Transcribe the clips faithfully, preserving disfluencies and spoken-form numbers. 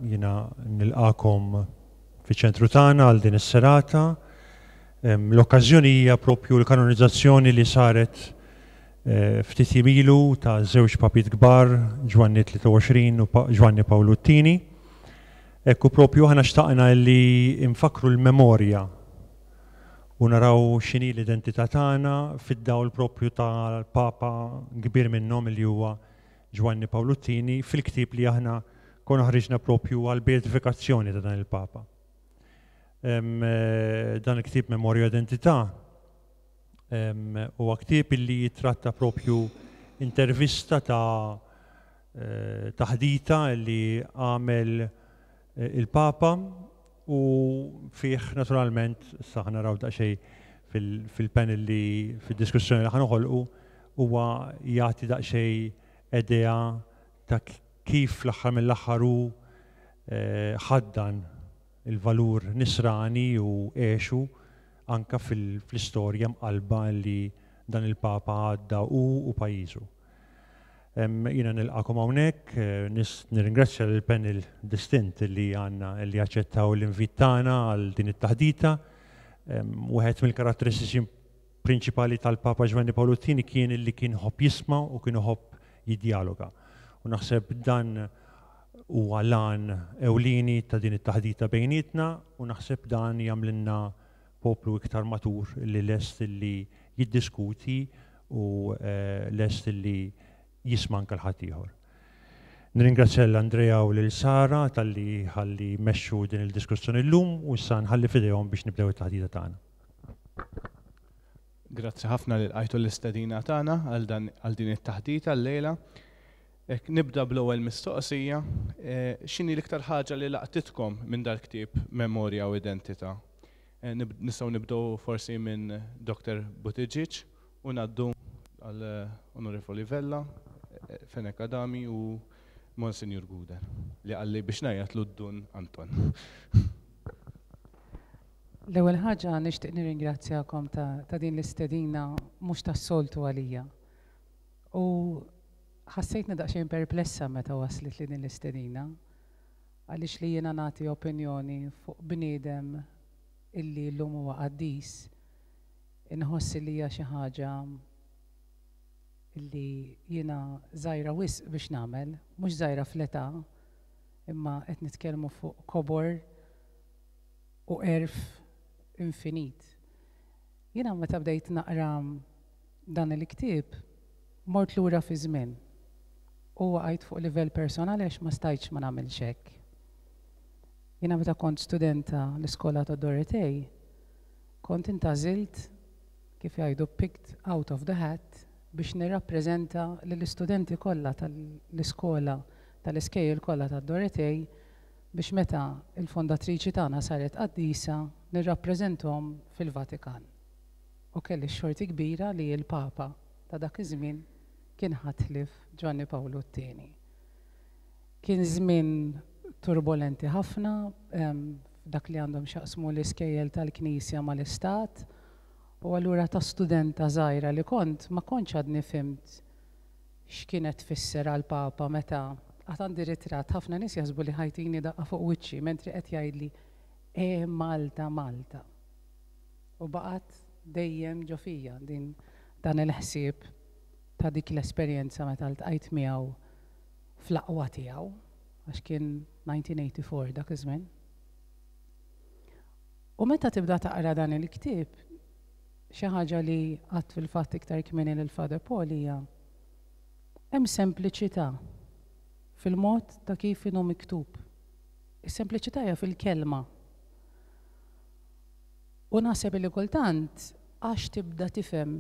Jiena nilqakom fiċ-ċentru tagħna għal din is-serata. L-okkażjoni hija propju l-kanonizzazzjoni li saret eh, ftit jiem ilu ta' żewġ papiet kbar, Ġwanni tlieta u għoxrin u Ġwanni Pawlu t-tieni. Ekku propju aħna xtaqna li nfakru l-memorja u naraw x'inhi l-identità tagħna fid-dawl propju tal-Papa kbir minnhom li huwa Ġwanni Pawlu t-tieni fil-ktieb li aħna konna ħriġna propju għal-beatifikazzjoni ta' dan il-Papa. Dan il-ktieb Memorja Identità huwa ktieb li jitratta propju intervista ta' taħdita li għamel il-Papa u fih naturalment issa ħa naraw daqsxejn fil-panel li fid-diskussjoni li ħa noħolqu huwa jagħti daqsxejn idea ta' kif l-aħħar mill-aħħar hu ħaddan il-valur nisrani u għexu anka fil-istorja mqalba li dan il-Papa għadda u u pajjiżu. Jiena nilqakom hawnhekk, nirringrazzja lill-panel distint li għandna li aċċettaw l-invit tagħna għal din it-taħdita. Wieħed mill-karatteristiċi prinċipali tal-Papa Ġwanni Pawlu t-tieni kien li kien ħobb jisma' u kien iħobb jiddialoga. U naħseb dan huwa l-għan ewlieni ta' din it-taħdita bejnietna u naħseb dan jagħmlilna poplu iktar matur li lest li jiddiskuti u lest li jisma' anke l-ħaddieħor. Nirringrazzja lil Andrea u lil Sara talli ħalli mexxu din il-diskussjoni llum u issa nħalli f'idejhom biex nibdew it-taħdita tagħna. Grazzi ħafna li lqajtu l-istedina tagħna għal din it-taħdita llejla. Nibda bl-ewwel mistoqsija, x'inhi l-iktar ħaġa li laqtitkom minn dal-ktieb Memorja u Identità? Nistgħu nibdew forsi minn Doktor Buttigieg u ngħaddu għal Onorevoli Vella, Fenech Adami u Monsignor Gouder li qalli biex ngħajjatlu Dun Anton. L-ewwel ħaġa nixtieq nirringrazzjakom ta' din l-istedina mhux tas-soltu għalija. U ħassejtni daqsxejn perplessa meta waslet li din l-istedina, għaliex li jiena nagħti opinjoni fuq bniedem illi llum huwa qaddis, inħoss li hija xi ħaġa illi jiena żgħira wisq biex nagħmel, mhux żgħira fl-età, imma qed nitkellmu fuq kobor u għerf infinit. Jiena meta bdejt naqra dan il-ktieb, mort lura fi żmien u waqajt fuq livell personali għax ma stajtx ma nagħmilx hekk. Jiena meta kont studenta l-iskola ta' Dorotej, kont intgħażilt, kif jgħidu, picked out of the hat biex nirrappreżenta lill-istudenti kollha tal-iskola tal-iskejjel kollha ta' Dorotej biex meta il-fondatriċi tagħna saret qaddisa nirrappreżenthom fil-Vatikan. U kelli xorti kbira li l-Papa ta' dak iż-żmien kien ħatlif Ġwanni Pawlu t-tieni. Kien żmien turbolenti ħafna f'dak li għandhom x'jaqsmu l-iskejjel tal-Knisja mal-Istat, u allura ta' studenta żgħira li kont ma kontx għadni fhimt x'kienet tfisser għall-Papa meta għad għandi ritratt ħafna nies jaħsbu li ħajtini daqqa fuq wiċċi mentri qed jgħidli e Malta Malta. U baqgħet dejjem ġo fija din dan il-ħsieb ta' dik l-esperjenza meta ltqajt miegħu fl-aqwa tiegħu, għax kien nineteen eighty-four dak iż-żmien. U meta tibda taqra dan il-ktieb, xi ħaġa li għadt fil-fatt iktar kmieni lil Father Paul hija hemm sempliċità fil-mod ta' kif inhu miktub. Is-sempliċità hija fil-kelma. U naħseb li kultant għax tibda tifhem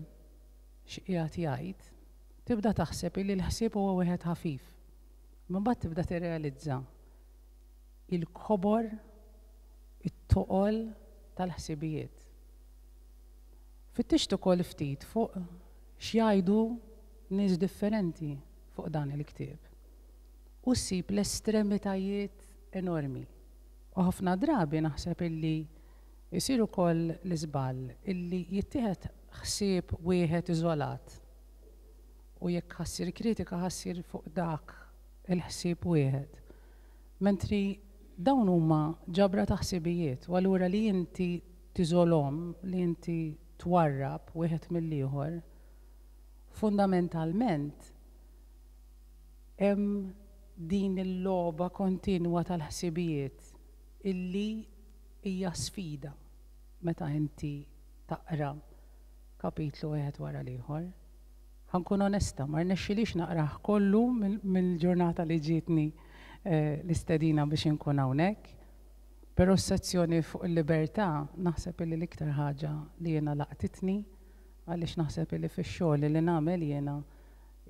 x'qiegħed jgħid, tibda taħseb li l-ħsieb huwa wieħed ħafif. Imbagħad tibda tirrealizza il-kobor, it-toqol tal-ħsibijiet. Fittixt ukoll ftit fuq x'jgħidu nies differenti fuq dan il-ktieb. U ssib l-estremitajiet enormi. U ħafna drabi naħseb illi jsir ukoll l-iżball illi jittieħed ħsieb wieħed iżolat. U jekk ħassir kritika ħassir fuq dak il-ħsieb wieħed. Mentri Dawn huma ġabra ta' ħsibijiet, u allura li inti tiżolhom, li inti twarrab wieħed mill-ieħor, fundamentalment hemm din il-logħba kontinwa tal-ħsibijiet illi hija sfida meta inti taqra kapitlu wieħed wara l-ieħor. Ħa nkun onesta, ma rnexxilix naqrah kollu mill-ġurnata li ġietni eh, l-istedina biex inkun hawnhekk. Però s-sezzjoni fuq il-libertà naħseb illi l-iktar ħaġa li jiena laqtitni, għaliex naħseb illi fix-xogħol li nagħmel jiena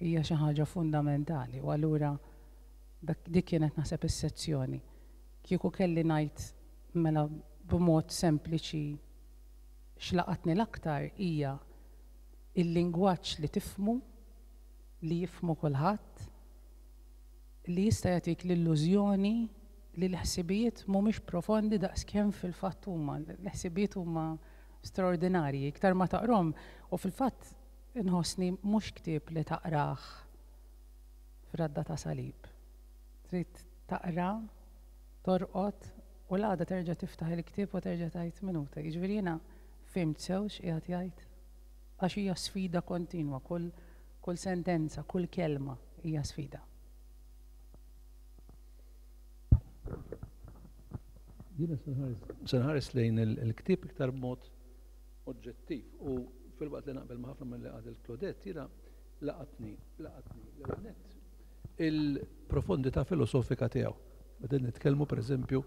hija xi ħaġa fundamentali, u allura dik kienet naħseb is-sezzjoni. Kieku kelli ngħid mela b'mod sempliċi x'laqatni l-aktar hija il-lingwaġġ li tifhmu, li jifhmu kulħadd, li jista' jagħtik l-illużjoni li l-ħsibijiet mhumiex profondi daqskemm fil-fatt huma. L-ħsibijiet huma straordinarji, iktar ma taqrom, u fil-fatt inħossni mhux ktieb li taqrah f'radda ta' salib. Trid taqra, torqod, u l-għada terġa' tiftaħ il-ktieb u terġa' tgħid minuta. Jiġifieri jiena fhimt sew x'qiegħed jgħid? Għax hija sfida kontinwa, kull, kull sentenza, kull kelma hija sfida. Jiena se nħares lejn il-ktieb iktar b'mod oġġettiv, u fil-waqt li naqbel ma' ħafna mill-li qal Claudette, jiena laqatni, laqatni l-ewwel nett il-profondità filosofika tiegħu. Meta nitkellmu pereżempju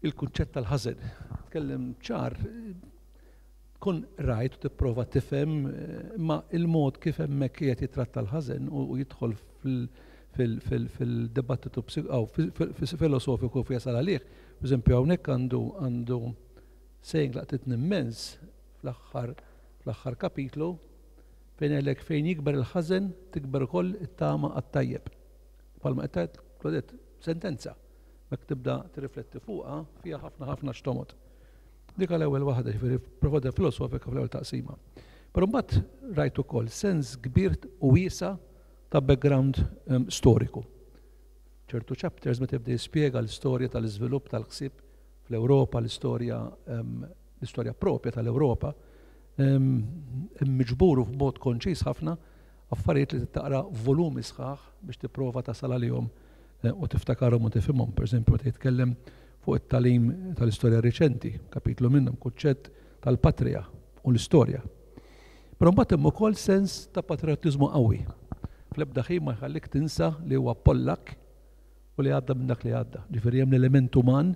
il-kunċett tal-ħażen, tkellem ċar, tkun rajt u tipprova tifhem, imma il-mod kif hemmhekk qiegħed jitratta l-ħażen u jidħol fil-dibattitu filosofiku fi jasal għalih. Pereżempju hawnhekk għandu għandu saying laqtitni immens fl-aħħar fl-aħħar kapitlu, fejn għalek fejn jikber il-ħażen tikber ukoll it-tama għat-tajjeb. Palma qed tgħid Claudette, sentenza. Mek tibda tirrifletti fuqha fiha ħafna ħafna x'tomod. Dik l-ewwel waħda, ġifieri profondità filosofika fl-ewwel taqsima. Però mbagħad rajt ukoll sens kbir u wiesa' ta' background um, storiku. Ċertu chapters meta jibda jispjega l-istorja tal-iżvilupp tal-ħsieb fl-Ewropa, l-istorja um, l-istorja propja tal-Ewropa, um, miġburu f'mod konċis ħafna affarijiet li taqra volumi sħaħ biex tipprova tasal għalihom u tiftakarhom u tifhimhom. Per eżempju, meta jitkellem fuq it-talim tal-istorja riċenti, kapitlu minnhom kunċett tal-patrija u l-istorja. Però mbagħad hemm ukoll sens ta' patriottiżmu qawwi. Fl-ebda ħin ma jħallik tinsa li huwa Pollak u li għadda minn dak li għadda. Ġifieri hemm l-element uman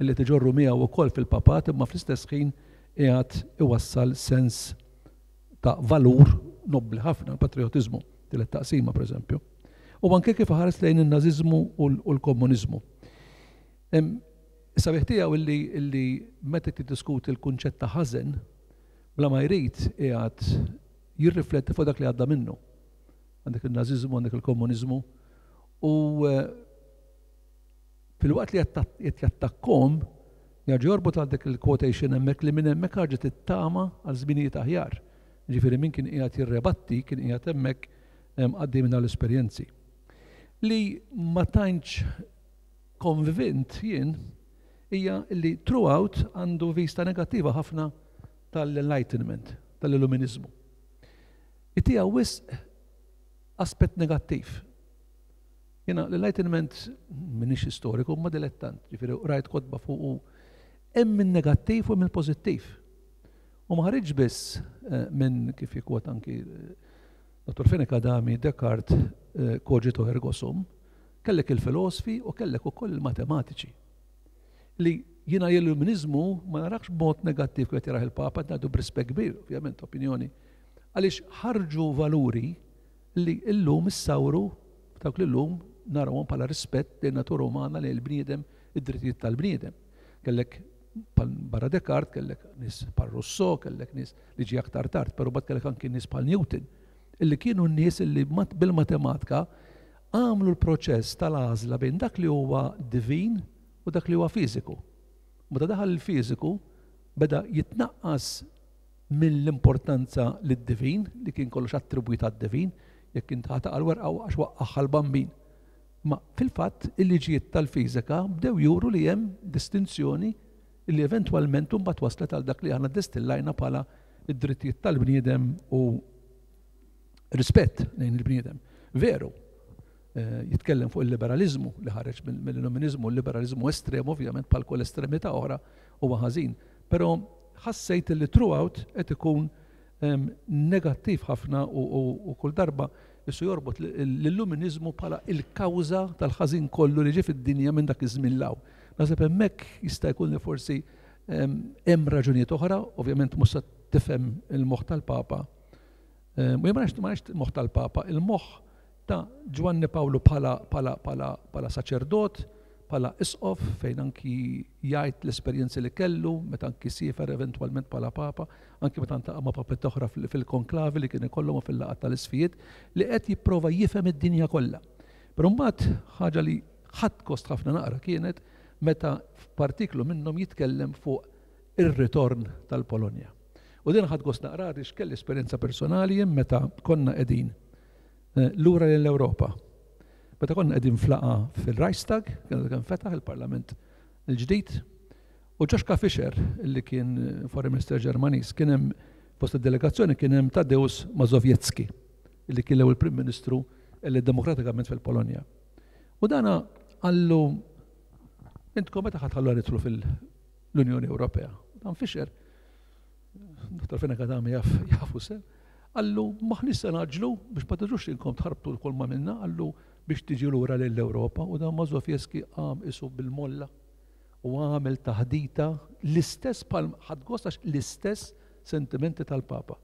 li tiġorru miegħu wkoll fil-papat, imma fl-istess ħin qiegħed iwassal sens ta' valur nobbli ħafna, l-patriottiżmu, tielet taqsima pereżempju. U anke kif ħares lejn in-nażiżmu u l-komuniżmu. Sabiħ tiegħu illi, illi meta tiddiskuti l-kunċett ta' ħażen, bla ma jrid qiegħed jirrifletti fuq dak li għadda minnu. Għandek il-nażiżmu, għandek il-komuniżmu, u fil-waqt li qed jattakkom, jerġa' jorbot għal dik il-quotation hemmhekk li minn hemmhekk ħarġet it-tama għal żminijiet aħjar. Ġifieri min kien qiegħed jirrebatti kien qiegħed hemmhekk għaddej minn l-esperjenzi. Li ma tantx konvint jien hija li throughout għandu vista negattiva ħafna tal-Enlightenment, tal-Illuminizmu. Itija wisq aspett negattiv. Jena l-Enlightenment minix istoriku, ma dilettant, ġifieri rajt kotba fuq u hemm min negattiv u minn pożittiv. U ma ħareġ biss minn kif jikwot anki Dottor Fenech Adami, Descartes, cogito ergo sum, kellek il-filosofi u kellek ukoll il-matematiċi. Li jiena l-illuminizmu ma narakx b'mod negattiv kif jarah il-Papa, ngħidu b'rispett kbir, ovvjament opinjoni, għaliex ħarġu valuri li llum issawru dawk li llum narawhom bħala rispett lejn natura umana, lejn il-bniedem, id-drittijiet tal-bniedem. Kellek barra Descartes, kellek nies bħal Rousseau, kellek nies li ġie aktar tard, però bad kellek anki nies bħal Newton, illi kienu n-nies illi bil-matematika għamlu l-proċess tal-għażla bejn dak li huwa divin u dak li huwa fiżiku. Meta daħal il-fiżiku beda jitnaqqas mill-importanza lid-divin, li kien kollox attribwit għad-divin, jekk int ħa taqa' l-werqa għax waqqaħħa l-bambin. Ma fil-fatt il-liġijiet tal-fiżika bdew juru li hemm distinzjoni li eventwalment mbagħad waslet għal dak li aħna distillajna bħala id-drittijiet tal-bniedem u rispett lejn il-bniedem. Veru, eh, jitkellem fuq il-liberalizmu li ħareġ mill-illuminizmu, il-liberalizmu estrem ovvjament bħal kull estremità oħra huwa ħażin. Però ħassejt li throughout qed ikun negattiv ħafna u kull darba jissu jorbot l-illuminizmu bħala il-kawża tal-ħażin kollu li ġie fid-dinja minn dak iż-żmien 'l hawn. Naħseb hemmhekk jista' jkun li forsi hemm raġunijiet oħra, ovvjament mhux se tifhem il-moħħ tal-Papa. U jien ma nafx il-moħħ tal-Papa, il-moħħ ta' Ġwanni Pawlu bħala bħala bħala bħala saċerdot, bħala isqof fejn anki jgħid l-esperjenzi li kellu meta anki siefer eventwalment bħala papa, anki meta ltaqa' ma' papiet oħra fil-konklavi li kien ikollhom fil-laqgħat tal-isfijiet li qed jipprova jifhem id-dinja kollha. Però mbagħad ħaġa li ħadt gost ħafna naqra kienet meta f'partiklu minnhom jitkellem fuq ir-ritorn tal-Polonja. U din ħadt gost naqra għaliex kelli esperjenza personali jien meta konna qegħdin eh, lura l-Ewropa. Meta konna qegħdin f'laqgħa fil-Reichstag, kien kien fetaħ il-Parlament il-ġdid, u Joschka Fischer, li kien Foreign Minister Ġermaniż, kien hemm fost id-delegazzjoni kien hemm Tadeusz Mazowiecki, li kien l-ewwel Prim Ministru elett demokratikament fil-Polonja. U dana qallu intkom meta ħa tħallu nidħlu fil-Unjoni Ewropea. Dan Fischer, Dottor Fenech Adami jaf jafu sew, qallu m'aħniex se ngħaġġlu biex ma tiġux inkom tħarbtu l ma minna, qallu biex tiġi lura l-Ewropa u dan Mazowiecki qam isu bil-molla u għamel taħdita l-istess pal ħadt gost għax l-istess sentimenti tal-Papa.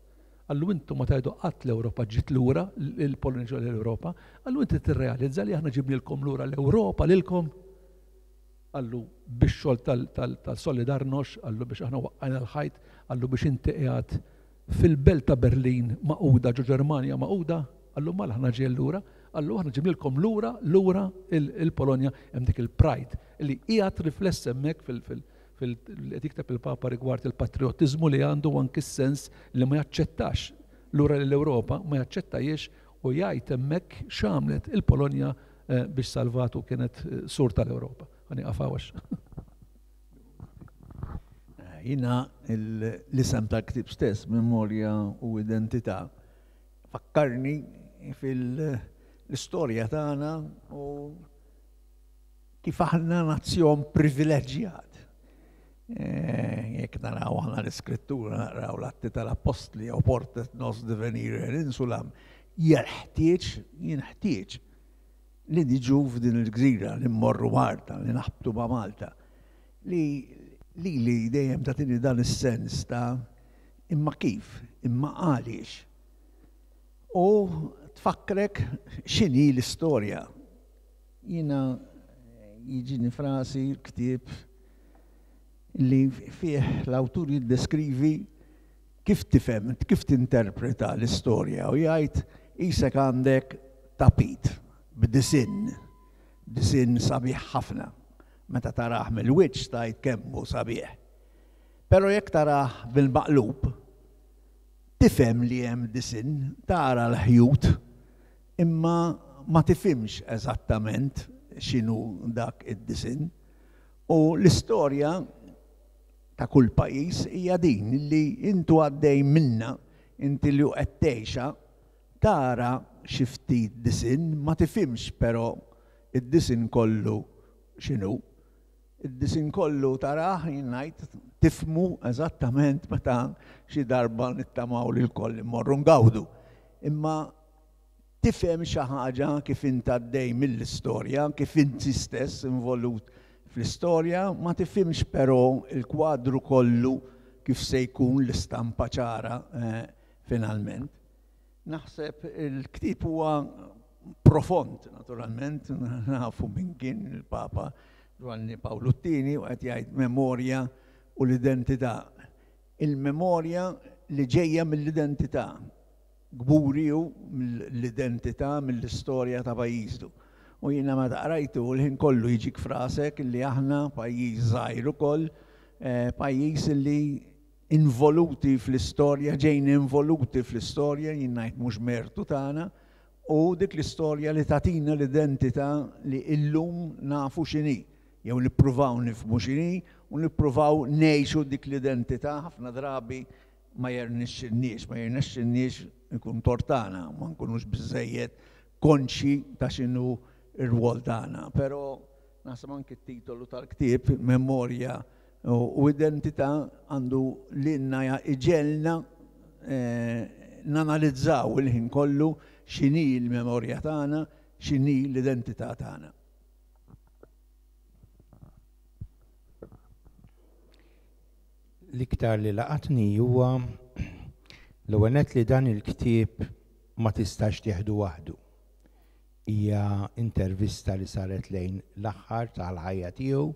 Qallu intu ma tgħidu qatt l-Ewropa ġiet lura, il-Polonja l-Ewropa, qallu inti tirrealizza li aħna ġibnilkom lura l-Ewropa lilkom. Qallu biex xogħol tal-Solidarność, qallu biex aħna waqqajna l-ħajt, qallu biex inti qiegħed fil-belt ta' Berlin magħquda ġo Ġermanja magħquda, qallu mela aħna ġejjin lura, qallu aħna ġibnilkom lura lura il-Polonja hemm dik il-pride li qiegħed rifless hemmhekk fil- fil qed jikteb il-Papa rigward il-patriotizmu li għandu anki s-sens li ma jaċċettax lura l-Ewropa, ma jaċċettajiex u jgħid hemmhekk x'għamlet il-Polonja eh, biex salvatu kienet eh, sur tal-Ewropa. Ħa nieqaf hawn. Jiena l-isem tal-ktib stess, Memorja u Identità, fakkarni fil-istorja tagħna u kif aħna nazzjon privileġġjat. Eh, jekk naraw aħna l-iskrittura, naraw l-Atti tal-Appostli oportet nos devenire in insulam, jeħtieġ, jinħtieġ li niġu f'din il-gżira, li mmorru Malta, li naħbtu ma' Malta, li li li dejjem tagħtini dan is-sens ta' imma kif, imma għaliex. U tfakkrek x'inhi l-istorja. Jiena jiġini f'rasi ktieb li fih l-awtur jiddeskrivi kif tifhem, kif tinterpreta l-istorja u jgħid isek għandek tapit b'disinn, disinn sabiħ ħafna. Meta tarah mill-wiċċ tgħid kemm hu sabiħ. Però jekk tarah bil-maqlub, tifhem li hemm disinn, tara l-ħjut, imma ma tifhimx eżattament x'inhu dak id-disinn. U l-istorja ta' kull pajjiż hija din li intu għaddej minna, inti li qed tgħixha, tara xi ftit disinn, ma tifhimx però id-disinn kollu x'inhu. Id-disinn kollu tarah jien ngħid tifhmu eżattament meta xi darba nittamaw li lkoll immorru ngawdu. Imma tifhem xi ħaġa kif int għaddej mill-istorja, kif inti stess involut fl-istorja, ma tifhimx però il-kwadru kollu kif se jkun l-istampa ċara eh, finalment. Naħseb il-ktib huwa profond, naturalment, nafu min kien il-Papa Ġwanni Pawlu t-Tieni u qed jgħid memorja u l-identità. Il-memorja li ġejja mill-identità, kburi hu mill-identità, mill-istorja ta' pajjiżu. U jiena meta qrajtu l-ħin kollu jiġik f'rasek li aħna pajjiż żgħir ukoll, eh, pajjiż li involuti fl-istorja, ġejna involuti fl-istorja, jien ngħid mhux mertu tagħna, U dik l-istorja li tagħtina l-identità li illum nafu x'inhi, jew nippruvaw nifhmu x'inhi u nippruvaw ngħixu dik l-identità. Ħafna drabi ma jirnexxilniex, ma jirnexxilniex ikun tortana, ma nkunux biżejjed konxi ta' x'inhu r-rwol tagħna. Però naħseb anki t-titolu tal-ktieb, Memorja u Identità, għandu lilna iġegħelna nanalizzaw il-ħin kollu x'inhi l-memorja tagħna, x'inhi l-identità tagħna. L-iktar li laqatni huwa l-ewwel nett li dan il-ktieb ma tistax tieħdu waħdu. Hija intervista li saret lejn l-aħħar tal-ħajja tiegħu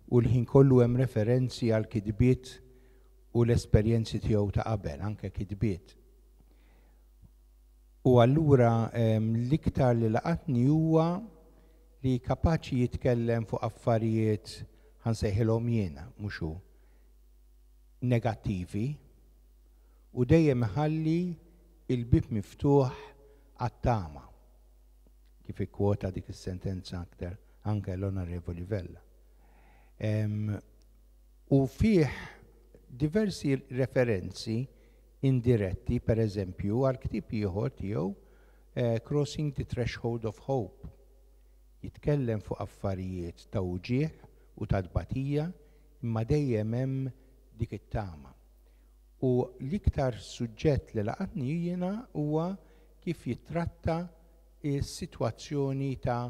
u l-ħin kollu hemm referenzi għal kitbiet u l-esperjenzi tiegħu ta' qabel, anke kitbiet. U allura l-iktar li laqatni huwa li kapaċi jitkellem fuq affarijiet ħansejħilhom jiena, mhux hu, negattivi, u dejjem ħalli il-bib miftuħ għat-tama, kif ikkwota dik is-sentenza aktar anke l-Onorevoli Vella. U fih diversi referenzi indiretti, per eżempju, għal ktieb ieħor tiegħu Crossing the Threshold of Hope. Jitkellem fuq affarijiet ta' uġieħ u ta' tbatija, imma dejjem hemm dik it-tama. U l-iktar suġġett li laqatni jiena huwa kif jittratta s-sitwazzjoni ta'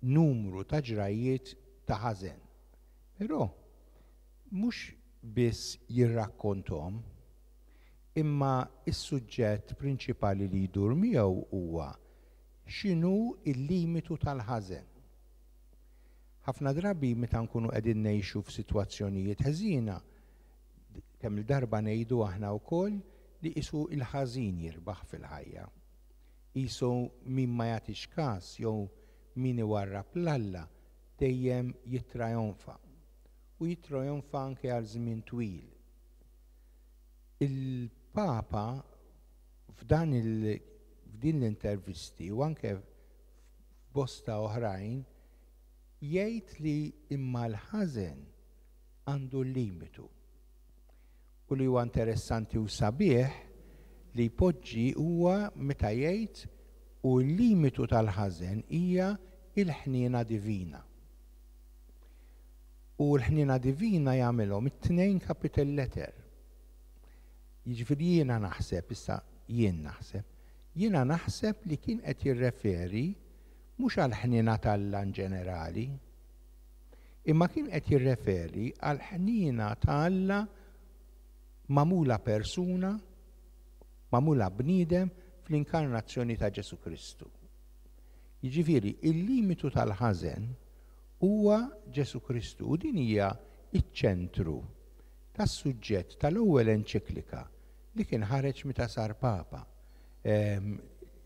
numru ta' ġrajiet ta' ħażen. Però mhux biss jirrakkontom, imma is-suġġett prinċipali li jdur miegħu huwa x'inhu l-limitu tal-ħażen. Ħafna drabi meta nkunu qegħdin ngħixu f'sitwazzjonijiet ħażina, kemm il-darba ngħidu aħna wkoll li qisu il-ħażin jirbaħ fil-ħajja. Qisu min ma jagħtix każ jew min iwarrab l-Alla dejjem jittrajonfa. U jittrajonfa anke għal żmien twil. Il-Papa f'dan il f'din l-intervisti u anke f'bosta oħrajn jgħid li imma l-ħażen għandu l-limitu. U li huwa interessanti u sabiħ li jpoġġi huwa meta jgħid u l-limitu tal-ħażen hija il-ħniena divina. U l-ħniena divina jagħmilhom it-tnejn capital letter. Jiġifieri jiena naħseb, issa jien naħseb, jiena naħseb li kien qed jirreferi mhux għall-ħniena t'Alla in ġenerali, imma kien qed jirreferi għall-ħniena ta' Alla magħmula persuna, magħmula bniedem fl-inkarnazzjoni ta' Ġesu Kristu. Jiġifieri il-limitu tal-ħażen huwa Ġesu Kristu u din hija iċ-ċentru tas-suġġett tal-ewwel enċiklika li kien ħareġ meta sar Papa,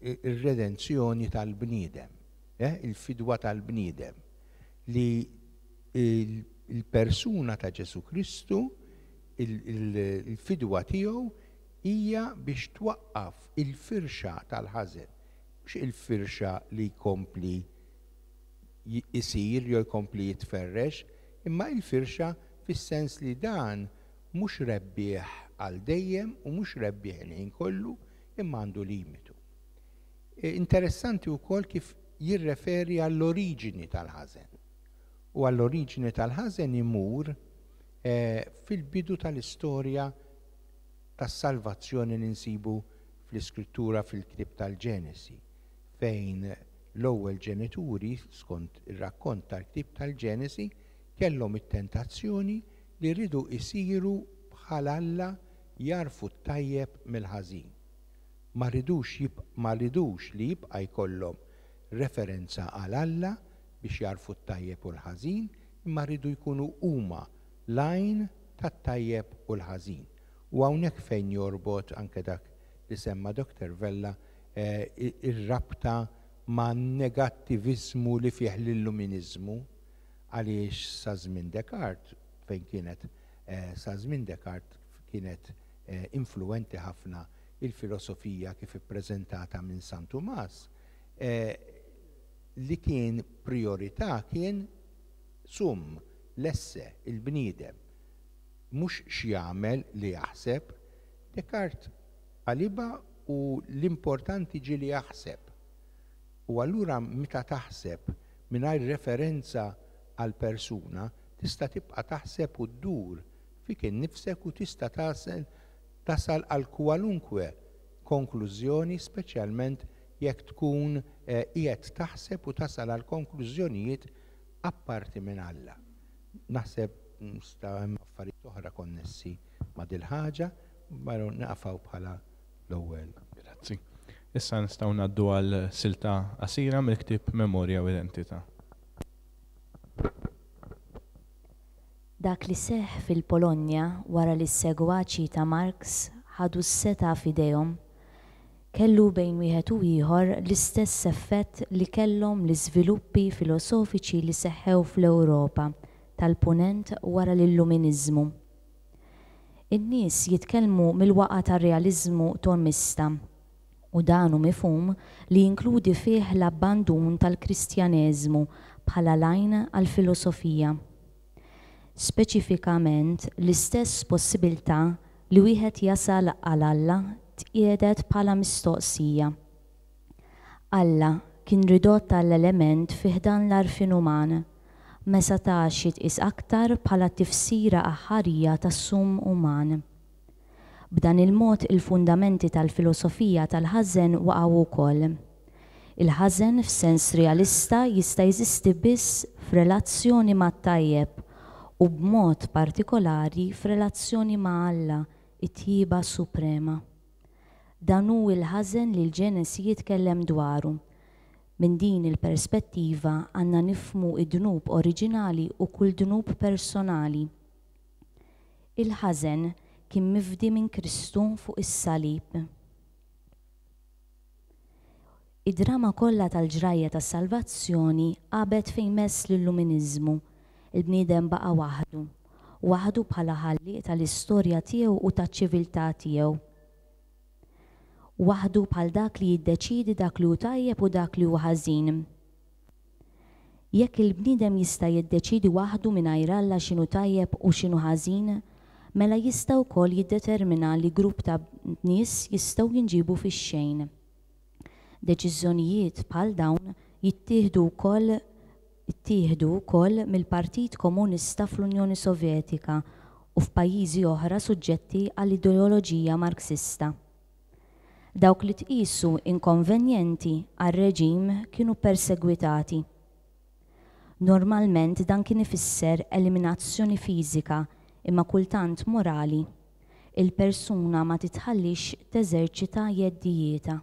ir-redenzjoni tal-bniedem, il-fidwa tal-bniedem, li il-persuna ta' Ġesu Kristu, il-fidwa tiegħu hija biex twaqqaf il-firxa tal-ħażen, mhux il-firxa li jkompli isir jew jkompli jitferrex, imma il-firxa fis-sens li dan mhux rebbieħ għal dejjem u mhux rebbieħ il-ħin kollu, imma għandu limitu. Interessanti wkoll kif jirreferi għall-oriġini tal-ħażen. U għall-oriġini tal-ħażen imur fil-bidu tal-istorja tas-salvazzjoni li nsibu fl-Iskrittura fil-ktieb tal-Ġenesi, fejn l-ewwel ġenituri, skont ir-rakkont tal-ktieb tal-Ġenesi, kellhom it-tentazzjoni li rridu isiru bħal Alla jarfu t-tajjeb mill-ħażin. Ma ridux ma ridux li jibqa' jkollhom referenza għal Alla biex jarfu t-tajjeb u l-ħażin, imma rridu jkunu huma l-għajn tat-tajjeb u l-ħażin. U hawnhekk fejn jorbot anke dak li semma Doktor Vella ir-rabta ma' negattiviżmu li fih l-illuminizmu, għaliex sa żmien Descartes, fejn kienet sa żmien Descartes kienet influenti ħafna Il-filosofija kif ippreżentata minn San Tumas, eh, li kien priorità kien sum, l-esse, il-bniedem. Mhux x'jagħmel li jaħseb. Descartes qalibha u l-importanti ġie li jaħseb. U allura meta taħseb mingħajr referenza għal persuna, tista' tibqa' taħseb u ddur fik innifsek u tista' tasal tasal għal kwalunkwe konklużjoni, speċjalment jekk tkun eh, qiegħed taħseb u tasal għal konklużjonijiet apparti minn Alla. Naħseb nista' hemm affarijiet oħra konnessi ma' dil-ħaġa, ma naqfaw bħala l-ewwel. Grazzi. Issa nistgħu ngħaddu għal silta qasira mill-ktieb Memorja u Identità. Dak li seħħ fil-Polonja wara li s-segwaċi ta' Marx ħadu s-setgħa f'idejhom, kellu bejn wieħed u ieħor l-istess effett li kellhom l-iżviluppi filosofiċi li seħħew fl-Ewropa tal-Punent wara l-Illuminiżmu. In-nies jitkellmu mill-waqgħa tar-realiżmu Tomista, u dan hu mifhum li jinkludi fih l-abbandun tal-Kristjaneżmu bħala l-għajn għall-filosofija. Speċifikament, l-istess possibilità li wieħed jasal għal Alla tqiegħdet bħala mistoqsija. Alla kien ridott għal element fi ħdan l-għarfien uman, ma setax jitqies aktar bħala tifsira aħħarija tas-sum uman. B'dan il-mod il-fundamenti tal-filosofija tal-ħażen waqgħu wkoll. Il-ħażen f'sens realista jista' jeżisti biss f'relazzjoni mat-tajjeb u b'mod partikolari f'relazzjoni ma' Alla, it-tjieba suprema. Dan hu l-ħażen li l-Ġenesi jitkellem dwaru. Minn din il-perspettiva għandna nifhmu id-dnub oriġinali u kull dnub personali. Il-ħażen kien mifdi minn Kristu fuq is-salib. Id-drama kollha tal-ġrajja tas-salvazzjoni qabet fejn mess l-Illuminiżmu. Il-bniedem baqa' waħdu, waħdu bħala ħallieq tal-istorja tiegħu u taċ-ċiviltà tiegħu. Waħdu bħal dak li jiddeċiedi dak li hu tajjeb u dak li hu ħażin. Jekk il-bniedem jista' jiddeċiedi waħdu mingħajr Alla x'inhu tajjeb u x'inhu ħażin, mela jista' wkoll jiddetermina li grupp ta' nies jistgħu jinġibu fix-xejn. Deċiżjonijiet bħal dawn jittieħdu wkoll ittieħdu wkoll mill-Partit Komunista fl-Unjoni Sovjetika u f'pajjiżi oħra suġġetti għall-ideoloġija Marxista. Dawk li tqisu inkonvenjenti għar-reġim kienu persegwitati. Normalment dan kien ifisser eliminazzjoni fiżika imma kultant morali. Il-persuna ma titħallix teżerċita jeddijietha.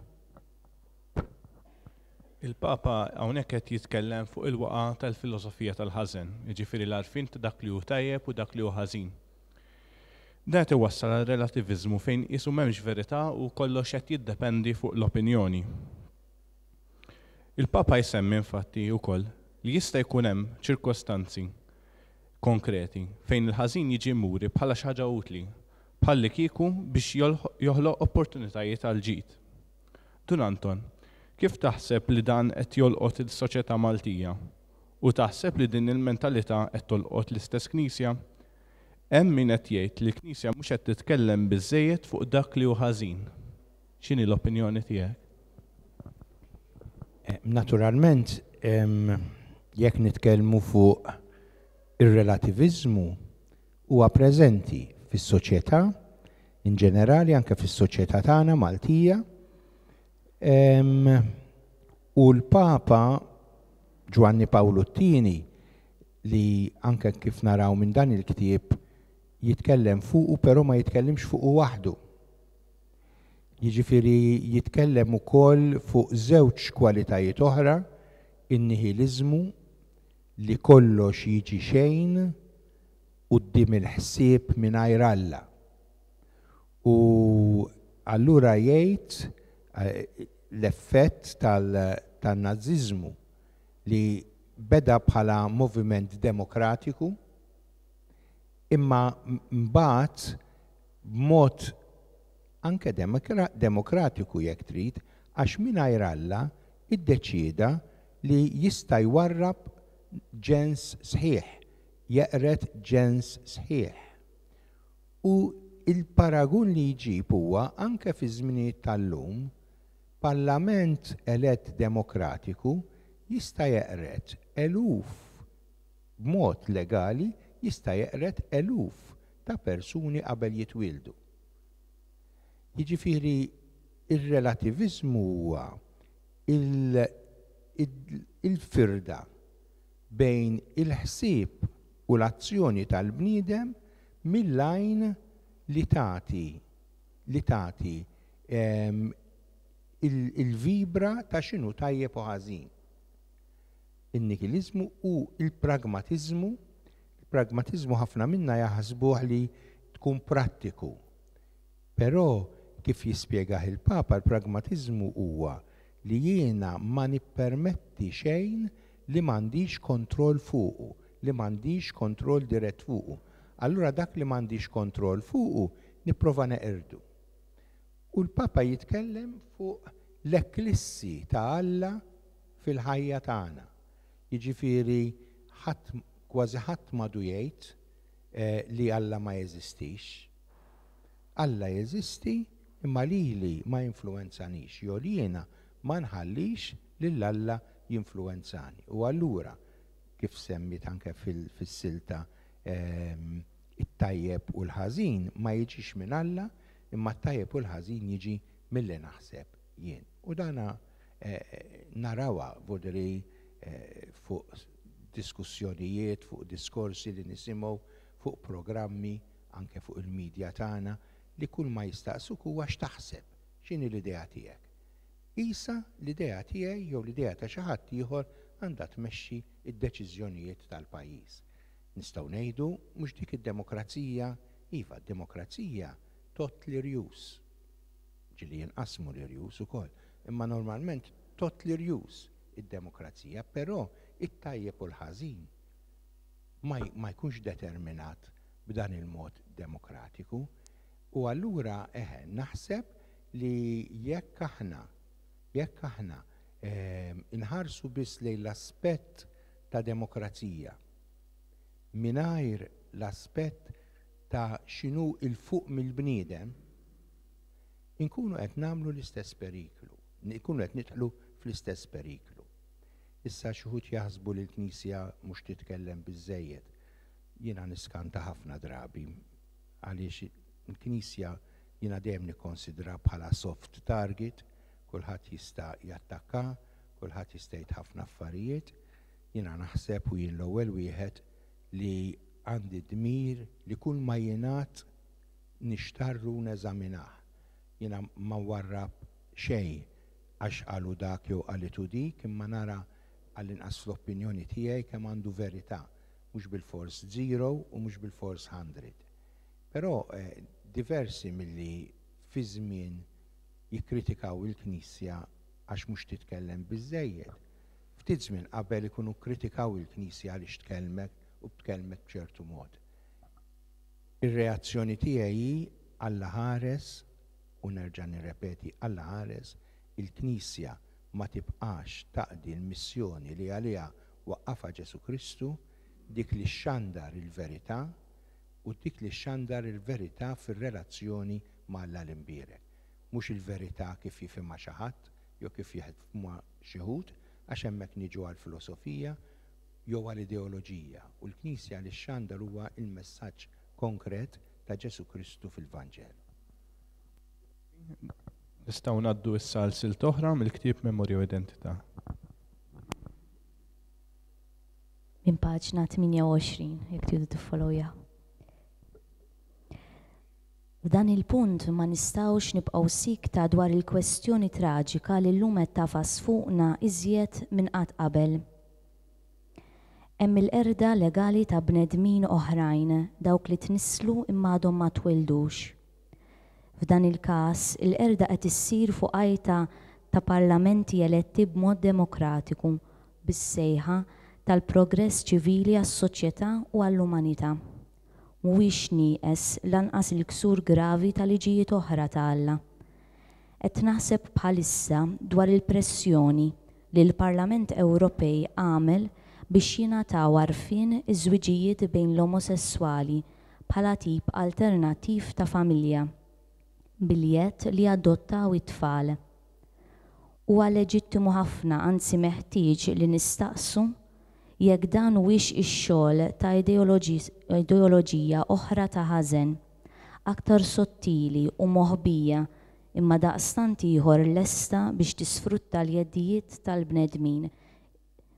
Il-Papa hawnhekk qed jitkellem fuq il-waqa tal-filosofija tal-ħażen, jiġifieri l-għarfien ta' dak li hu tajjeb u dak li hu ħażin. Dan qed iwassal għal relativiżmu fejn qisu m'hemmx verità u kollox qed jiddependi fuq l-opinjoni. Il-Papa jsemmi infatti wkoll li jista' jkun hemm ċirkostanzi konkreti fejn il-ħażin jiġi muri bħala xi ħaġa utli, bħalli kieku biex joħloq opportunitajiet għal ġid. Dun Anton, kif taħseb li dan qed jolqot il-soċjetà Maltija? U taħseb li din il-mentalità qed tolqot l-istess Knisja? Hemm min qed jgħid li l-Knisja mhux qed titkellem biżżejjed fuq dak li hu ħażin. X'inhi l-opinjoni tiegħek? Naturalment, jekk nitkellmu fuq ir-relativiżmu, huwa preżenti fis-soċjetà in ġenerali, anke fis-soċjetà tagħna Maltija. U l-Papa Ġwanni Pawlu t-tieni, li anke kif naraw minn dan il-ktieb jitkellem fuqu, però ma jitkellimx fuqu waħdu. Jiġifieri jitkellem ukoll fuq żewġ kwalitajiet oħra, in-nihiliżmu li kollox jiġi xejn quddiem il-ħsieb mingħajr Alla. U allura jgħid l-effett tan-naziżmu li beda bħala moviment demokratiku, imma mbagħad b'mod Anke demokratiku jekk trid, għax mingħajr Alla iddeċieda li jista' jwarrab ġens sħiħ, jeqred ġens sħiħ. U il-paragun li jġib huwa anke fi żminijiet tal-lum, parlament elett demokratiku jista' jeqred eluf b'mod legali, jista' jeqred eluf ta' persuni qabel jitwieldu. Jiġifieri ir-relativiżmu huwa il-firda bejn il-ħsieb u l-azzjoni tal-bniedem mill-għajn li tagħti li tagħti il-vibra ta' x'inhu tajjeb u ħażin. In-nichilizmu u il-pragmatiżmu. Il-pragmatiżmu ħafna minna jaħsbuh li tkun prattiku. Però kif jispjegah il-Papa, il-pragmatiżmu huwa li jiena ma nippermetti xejn li m'għandix kontroll fuqu, li m'għandix kontroll dirett fuqu. Allura dak li m'għandix kontroll fuqu nipprova neqirdu. U l-Papa jitkellem fuq l-eklissi ta' Alla fil-ħajja tagħna. Jiġifieri ħadd, kważi ħadd m'għadu jgħid eh, li Alla ma jeżistix. Alla jeżisti imma lili ma jinfluwenzanix, jew li jiena ma nħallix lil Alla jinfluwenzani. U allura, kif semmit anke fis-silta, ehm, it-tajjeb u l-ħażin ma jiġix minn Alla, imma t-tajjeb u l-ħażin jiġi milli naħseb jien. U dana eh, narawha vodri eh, fuq diskussjonijiet, fuq diskorsi li nisimgħu, fuq programmi, anke fuq il-medja tagħna, li kull ma jistaqsuk huwa x'taħseb, x'inhi l-idea tiegħek. Isa l-idea tiegħi jew l-idea ta' xi ħadd ieħor għandha tmexxi d-deċiżjonijiet tal-pajjiż. Nistgħu ngħidu mhux dik id-demokrazija, iva, d-demokrazija tgħodd l-irjus. Ġieli jinqasmu l-irjus ukoll, imma normalment tgħodd l-irjus id-demokrazija, però it-tajjeb u l-ħażin ma, ma jkunx determinat b'dan il-mod demokratiku. U allura eħe, naħseb li jekk aħna jekk aħna eh, inħarsu biss lejn l-aspett ta' demokrazija mingħajr l-aspett ta' x'inhu 'l fuq mill-bniedem, inkunu qed nagħmlu l-istess periklu, nkunu qed nidħlu fl-istess periklu. Issa xi wħud jaħsbu li l-Knisja mhux titkellem biżżejjed. Jiena niskanta ħafna drabi għaliex il-Knisja jiena dejjem nikkonsidra bħala soft target, kulħadd jista' jattakka, kulħadd jista' jgħid ħafna affarijiet. Jiena naħseb u jien l-ewwel wieħed li għandi dmir li kull ma jingħad nixtarru neżaminah. Jiena ma warrab xejn għax qalu dak jew qalitu dik, imma nara għall-inqas fl-opinjoni tiegħi kemm għandu verità, mhux bilfors zero u mhux bilfors hundred. Però eh, diversi milli fi żmien jikkritikaw il-Knisja għax mhux titkellem biżżejjed. Ftit żmien qabel ikunu kkritikaw il-Knisja għaliex tkellmet u tkellmet b'ċertu mod. Ir-reazzjoni tiegħi hi Alla ħares, u nerġa' nirrepeti, Alla ħares, il-Knisja ma tibqax taqdi l-missjoni li għaliha waqqafha Ġesù Kristu, dik li xxandar il-verità u dik li xxandar il-verità fir-relazzjoni ma' Alla l-Imbierek. Mhux il-verità kif jifhimha xi ħadd jew kif jifhimha xi wħud, għax hemmhekk niġu għall-filosofija jew għall-ideoloġija, u l-Knisja li xxandar huwa il-messaġġ konkret ta' Ġesù Kristu fil-Vanġelu. Nistgħu ngħaddu issa għal silt oħra mill-ktieb Memorja u Identità. Minn paġna tmienja u għoxrin, jekk tridu tiffollowja. F'dan il-punt ma nistgħux nibqgħu sikta dwar il-kwestjoni traġika li llum qed tagħfas fuqna iżjed minn qatt qabel. Hemm il-qerda legali ta' bnedmin oħrajn, dawk li tnisslu imma għadhom ma twildux. F'dan il-każ, il-qerda qed issir fuq għajta ta' parlamenti eletti b'mod demokratiku, bis-sejħa tal-progress ċivili għas-soċjetà u għall-umanità. Mhuwiex nieqes lanqas il-ksur gravi ta' liġijiet oħra ta' Alla. Qed naħseb bħalissa dwar il-pressjoni li l-Parlament Ewropej għamel biex jingħataw għarfien iż-żwiġijiet bejn l-omosesswali bħala tip alternattiv ta' familja, bil-jedd li jadottaw it-tfal. Huwa leġittimu ħafna, anzi meħtieġ li nistaqsu jekk dan huwiex ix-xogħol ta' ideoloġija oħra ta' ħażen, aktar sottili u moħbija imma daqstant ieħor lesta biex tisfrutta l-jeddijiet tal-bnedmin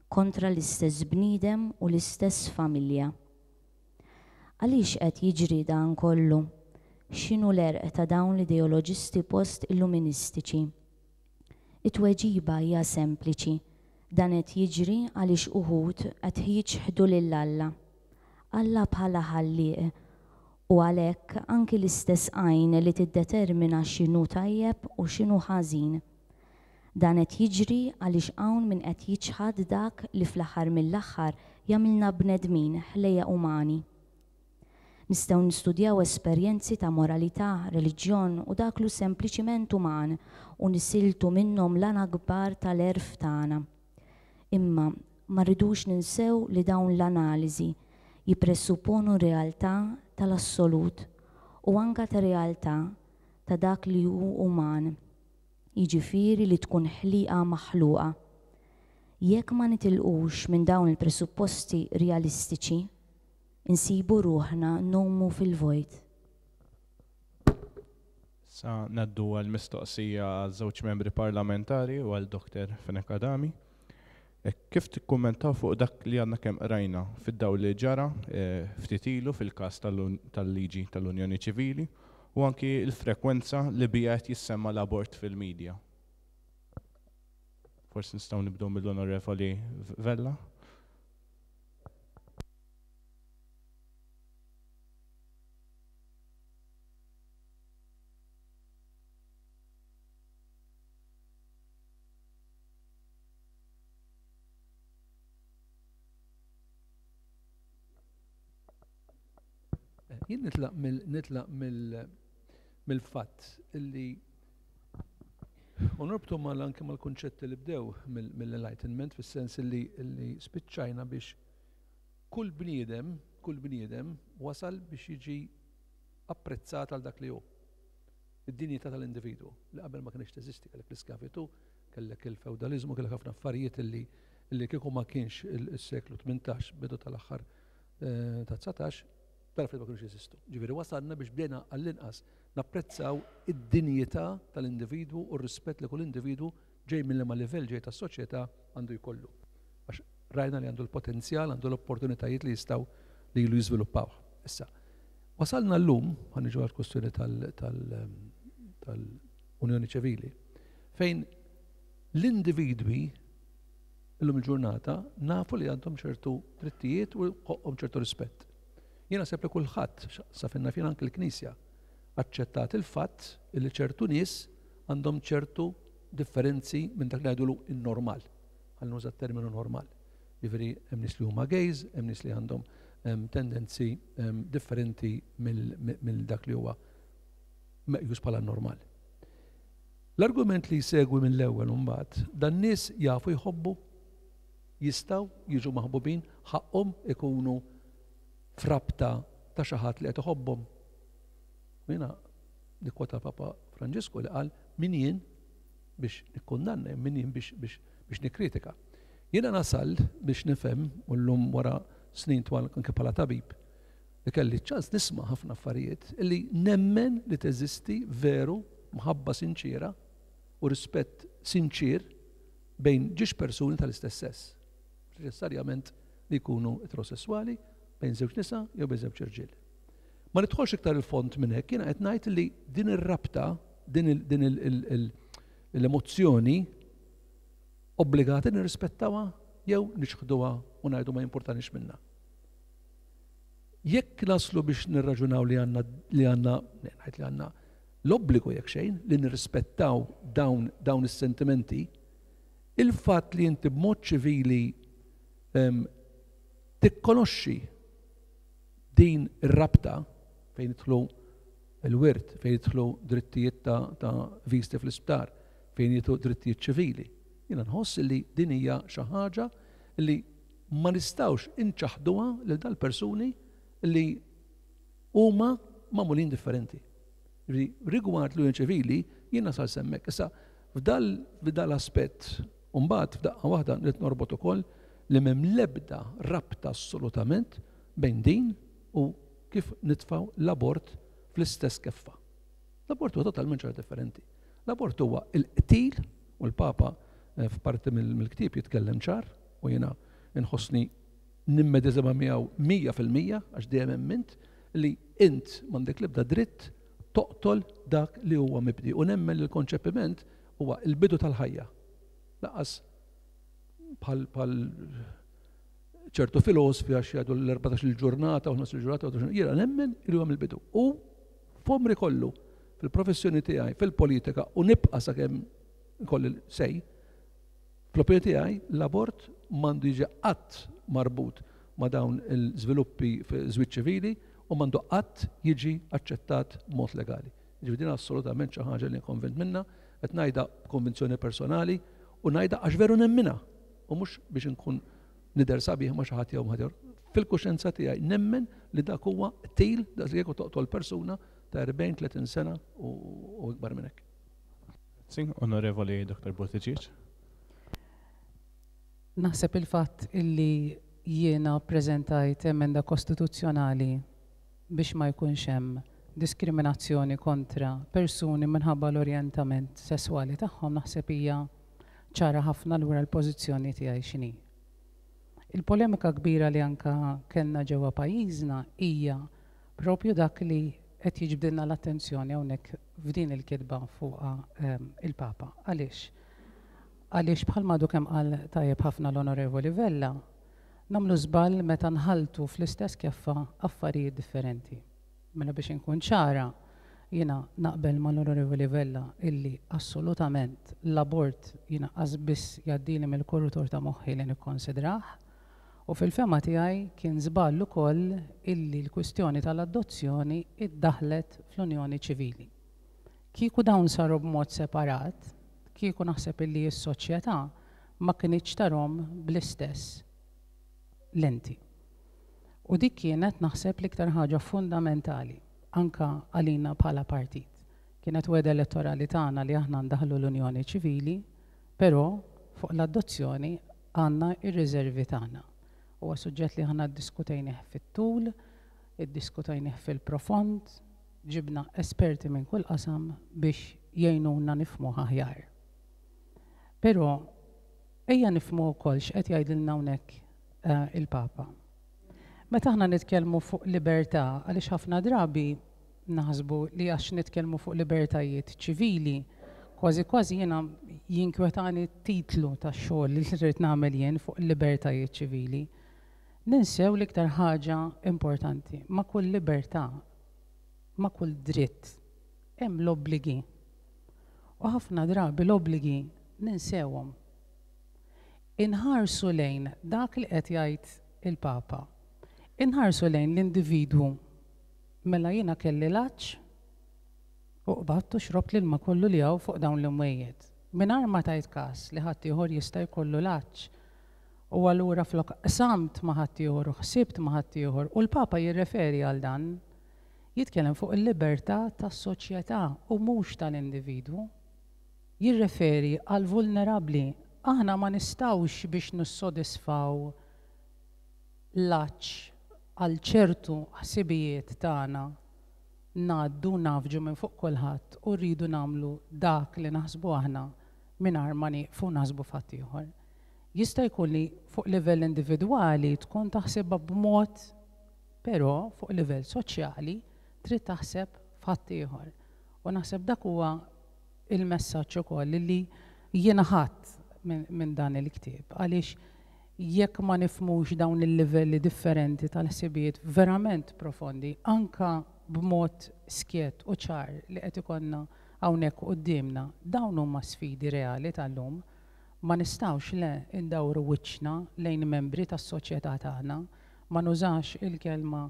kontra l-istess bniedem u l-istess familja. Għaliex qed jiġri dan kollu? X'inhu l-għerq ta' dawn l-ideoloġisti post-illuministiċi? It-tweġiba hija sempliċi. Dan qed jiġri għaliex uħud qed jiċħdu lil Alla. Alla bħala ħallieq u għalhekk anki l-istess għajn li tiddetermina x'inhu tajjeb u x'inhu ħażin. Dan qed jiġri għaliex hawn min qed jiċħad dak li fl-aħħar mill-aħħar jagħmilna bnedmin ħlejja umani. Nistgħu nistudjaw esperjenzi ta' moralità, reliġjon u dak lu sempliċiment uman u nisiltu minnhom l-għana kbar tal-għerf tagħna. Imma ma rridux ninsew li dawn l-analiżi jippresupponu realtà tal-assolut u anka ta' realtà ta' dak li hu uman, jiġifieri li tkun ħliqa maħluqa. Jekk ma nitilqux minn dawn il-presupposti realistiċi, insibu ruħna nomu fil-vojt. Sa naddu għal mistoqsija għal żewġ membri parlamentari u għal Doktor Fenech Adami. Kif tikkummentaw fuq dak li għadna kemm qrajna fid-dawl li ġara ftit ilu fil-każ tal-liġi tal-Unjoni Ċivili u anki l-frekwenza li bija qed jissemma l-abort fil-medja? Forsi nistgħu nibdew mill-Onorevoli Vella. Jien nitlaq mill-nitlaq mill-fatt illi u norbtu mal anke mal-kunċetti li bdew mill-Enlightenment, fis-sens illi spiċċajna biex kull bniedem, kull bniedem wasal biex jiġi apprezzat għal dak li hu. Id-dinjità tal-individwu li qabel ma kienx teżisti, kellek l-iskavitu, kellek il-feudalizmu, kellek ħafna affarijiet illi illi kieku ma kienx il-seklu tmintax, bidu tal-aħħar ta' dsatax, tal-affarijiet ma kienux jeżistu. Ġifieri wasalna biex bdejna għall-inqas napprezzaw id-dinjità tal-individwu u r-rispett li kull individwu ġej minn liema livell ġej tas-soċjetà għandu jkollu. Għax rajna li għandu l-potenzjal, għandu l-opportunitajiet li jistgħu li ilu jiżviluppaw. Issa, wasalna llum, ħa niġu għall-kwestjoni tal-Unjoni Ċivili, fejn l-individwi illum il-ġurnata nafu li għandhom ċertu drittijiet u ħoqqhom ċertu rispett. Jiena naħseb li kulħadd, sa fejn naf jien anke l-Knisja, aċċettat il-fatt li ċertu nies għandhom ċertu differenzi minn dak li ngħidulu in-normal. Ħalli nuża t-terminu normal. Jiġifieri hemm nies li huma gays, hemm nies li għandhom tendenzi differenti mill dak li huwa meqjus bħala normal. L-argument li jsegwi mill-ewwel imbagħad, dan nies jafu jħobbu, jistgħu jiġu maħbubin, ħaqhom ikunu frabta ta' xi ħadd li qed iħobbhom. Jiena nikkwota Papa Franġisku li qal min jien biex nikkundanna, min jien biex, biex, biex nikkritika. Jiena nasal biex nifhem u llum wara snin twal anke bħala tabib li kelli ċans nisma' ħafna affarijiet illi nemmen li teżisti veru mħabba sinċiera u rispett sinċir bejn ġiex persuni tal-istess sess. Neċessarjament li jkunu eterosessuali, bejn żewġ nisa jew bejn żewġ irġiel. Ma nidħolx iktar il-fond minn hekk, jiena qed ngħid li din ir-rabta, din l-emozzjoni obbligati nirrispettawha jew niċħduha u ngħidu ma jimpurtanix minnha. Jekk naslu biex nirraġunaw li għandna li għandna ngħid li għandna l-obbligu jekk xejn li nirrispettaw dawn dawn is-sentimenti, il-fatt li inti b'mod ċivili tikkonoxxi Din ir-rabta fejn jidħlu il-wirt, fejn jidħlu drittijiet ta', ta viżti fl-isptar, fejn jidħlu drittijiet ċivili. Jiena nħoss li din hija xi ħaġa li ma nistgħux inċaħduha lil dal-persuni li huma magħmulin differenti. Rigward l-unjoni ċivili, jiena sal s'hemmhekk. Issa, f'dal aspett, mbagħad f'daqqa waħda nrid norbot ukoll li m'hemm l-ebda rabta assolutament bejn din u kif nitfaw l-abort fl-istess keffa. L-abort huwa totalment ċara differenti. L-abort huwa il-qtil, u l-Papa eh, f'parti mill-ktieb jitkellem ċar, u jiena nħossni nimmedeżima miegħu mija fil-mija għax dejjem emmint li int m'għandek l-ebda dritt toqtol dak li huwa mibdi. U nemmen li l-konċepiment huwa l-bidu tal-ħajja. Lanqas bħal bħal ċertu filosofi għax jgħidu l-erbatax il-ġurnata u ħmistax il-ġurnata, jiena nemmen li huwa mill-bidu. U f'għomri kollu, fil-professjoni tiegħi, fil-politika, u nibqa' sakemm ikolli sej, fl-opinjoni tiegħi l-abort m'għandu jiġi qatt marbut ma' dawn il-żviluppi fi żwieġ ċivili u m'għandu qatt jiġi aċċettat mod legali. Ġifieri din assolutament xi ħaġa li konvint minna, qed ngħidha b'konvinzjoni personali u ngħidha għax veru nemminha u mhux biex inkun nidher sabiħ ma' xi ħadd jew ħadd. Fil-kuxjenza tiegħi nemmen li dak huwa qtil, dak li jekk toqtol persuna ta' erbgħin, tletin sena u ikbar minn hekk. Grazzi, Onorevoli Doktor Buttigieg. Naħseb il-fatt illi jiena preżentajt emenda kostituzzjonali biex ma jkunx hemm diskriminazzjoni kontra persuni minħabba l-orjentament sesswali tagħhom naħseb hija ċara ħafna lura l-pożizzjoni tiegħi x'inhi. Il-polemika kbira li anka kellna ġewwa pajjiżna hija propju dak li qed jiġbdilna l-attenzjoni hawnhekk f'din il-kitba fuqha, ehm, il-Papa. Għaliex? Għaliex bħalma għadu kemm qal tajjeb ħafna l-Onorevoli Vella, nagħmlu żball meta nħaltu fl-istess keffa affarijiet differenti. Mela biex inkun ċara, jiena naqbel mal-Onorevoli Vella illi assolutament l-abort jiena qas biss jgħaddili mill-korrutur ta' moħħi li nikkonsidrah, u fil-fehma tiegħi kien żball ukoll illi l-kwistjoni tal-adozzjoni iddaħlet fl-Unjoni Ċivili. Kieku dawn saru b'mod separat, kieku naħseb illi s-soċjetà ma kinitx tarahom bl-istess lenti. U dik kienet naħseb l-iktar ħaġa fundamentali anka għalina bħala partit. Kienet wegħda elettorali tagħna li aħna ndaħlu l-Unjoni Ċivili, però fuq l-adozzjoni għandna ir-riservi tagħna. Huwa suġġett li aħna ddiskutejnih fit-tul, iddiskutejnih fil-profond, ġibna esperti minn kull qasam biex jgħinuna nifhmu aħjar. Però ejja nifhmu wkoll x'qed jgħidilna hawnhekk, eh, il-Papa. Meta aħna nitkellmu fuq libertà, għaliex ħafna drabi naħsbu li għax nitkellmu fuq libertajiet ċivili, kważi kważi jiena jinkwetani titlu tax-xogħol li rrid nagħmel jien fuq libertajiet ċivili. Ninsew l-iktar ħaġa importanti, ma' kull libertà, ma' kull dritt, hemm l-obbligi. U ħafna drabi l-obbligi ninsewhom. Inħarsu lejn dak li qed jgħid il-Papa. Inħarsu lejn l-individwu. Mela jiena kelli l-għatx u qbadt u xrobt l-ilma kollu li hawn fuq dawn l-imwejjed. Mingħajr ma tajt każ li ħaddieħor jista' jkollu l-għatx. U allura flok qsamt ma' ħaddieħor u ħsibt ma' ħaddieħor, u l-Papa jirreferi għal dan, jitkellem fuq il-libertà tas-soċjetà u mhux tal-individwu. Jirreferi għal vulnerabbli. Aħna ma nistgħux biex nissodisfaw l-għatx għal ċertu ħsibijiet tagħna ngħaddu nafġu minn fuq kulħadd u rridu nagħmlu dak li naħsbu aħna mingħajr ma nieqfu naħsbu f'ħaddieħor. Jista' jkun li fuq livell individwali tkun taħsibha b'mod, però fuq livell soċjali trid taħseb f'ħaddieħor. U naħseb dak huwa il-messaġġ ukoll li jiena ħadd minn, minn dan il-ktieb, għaliex jekk ma nifhmux dawn il-livelli differenti tal-ħsibijiet verament profondi, anka b'mod skjett u ċar li qed ikollna hawnhekk quddiemna, dawn huma sfidi reali tal-lum. Ma nistgħux le indawru wiċċna lejn membri tas-soċjetà tagħna, ma nużax il-kelma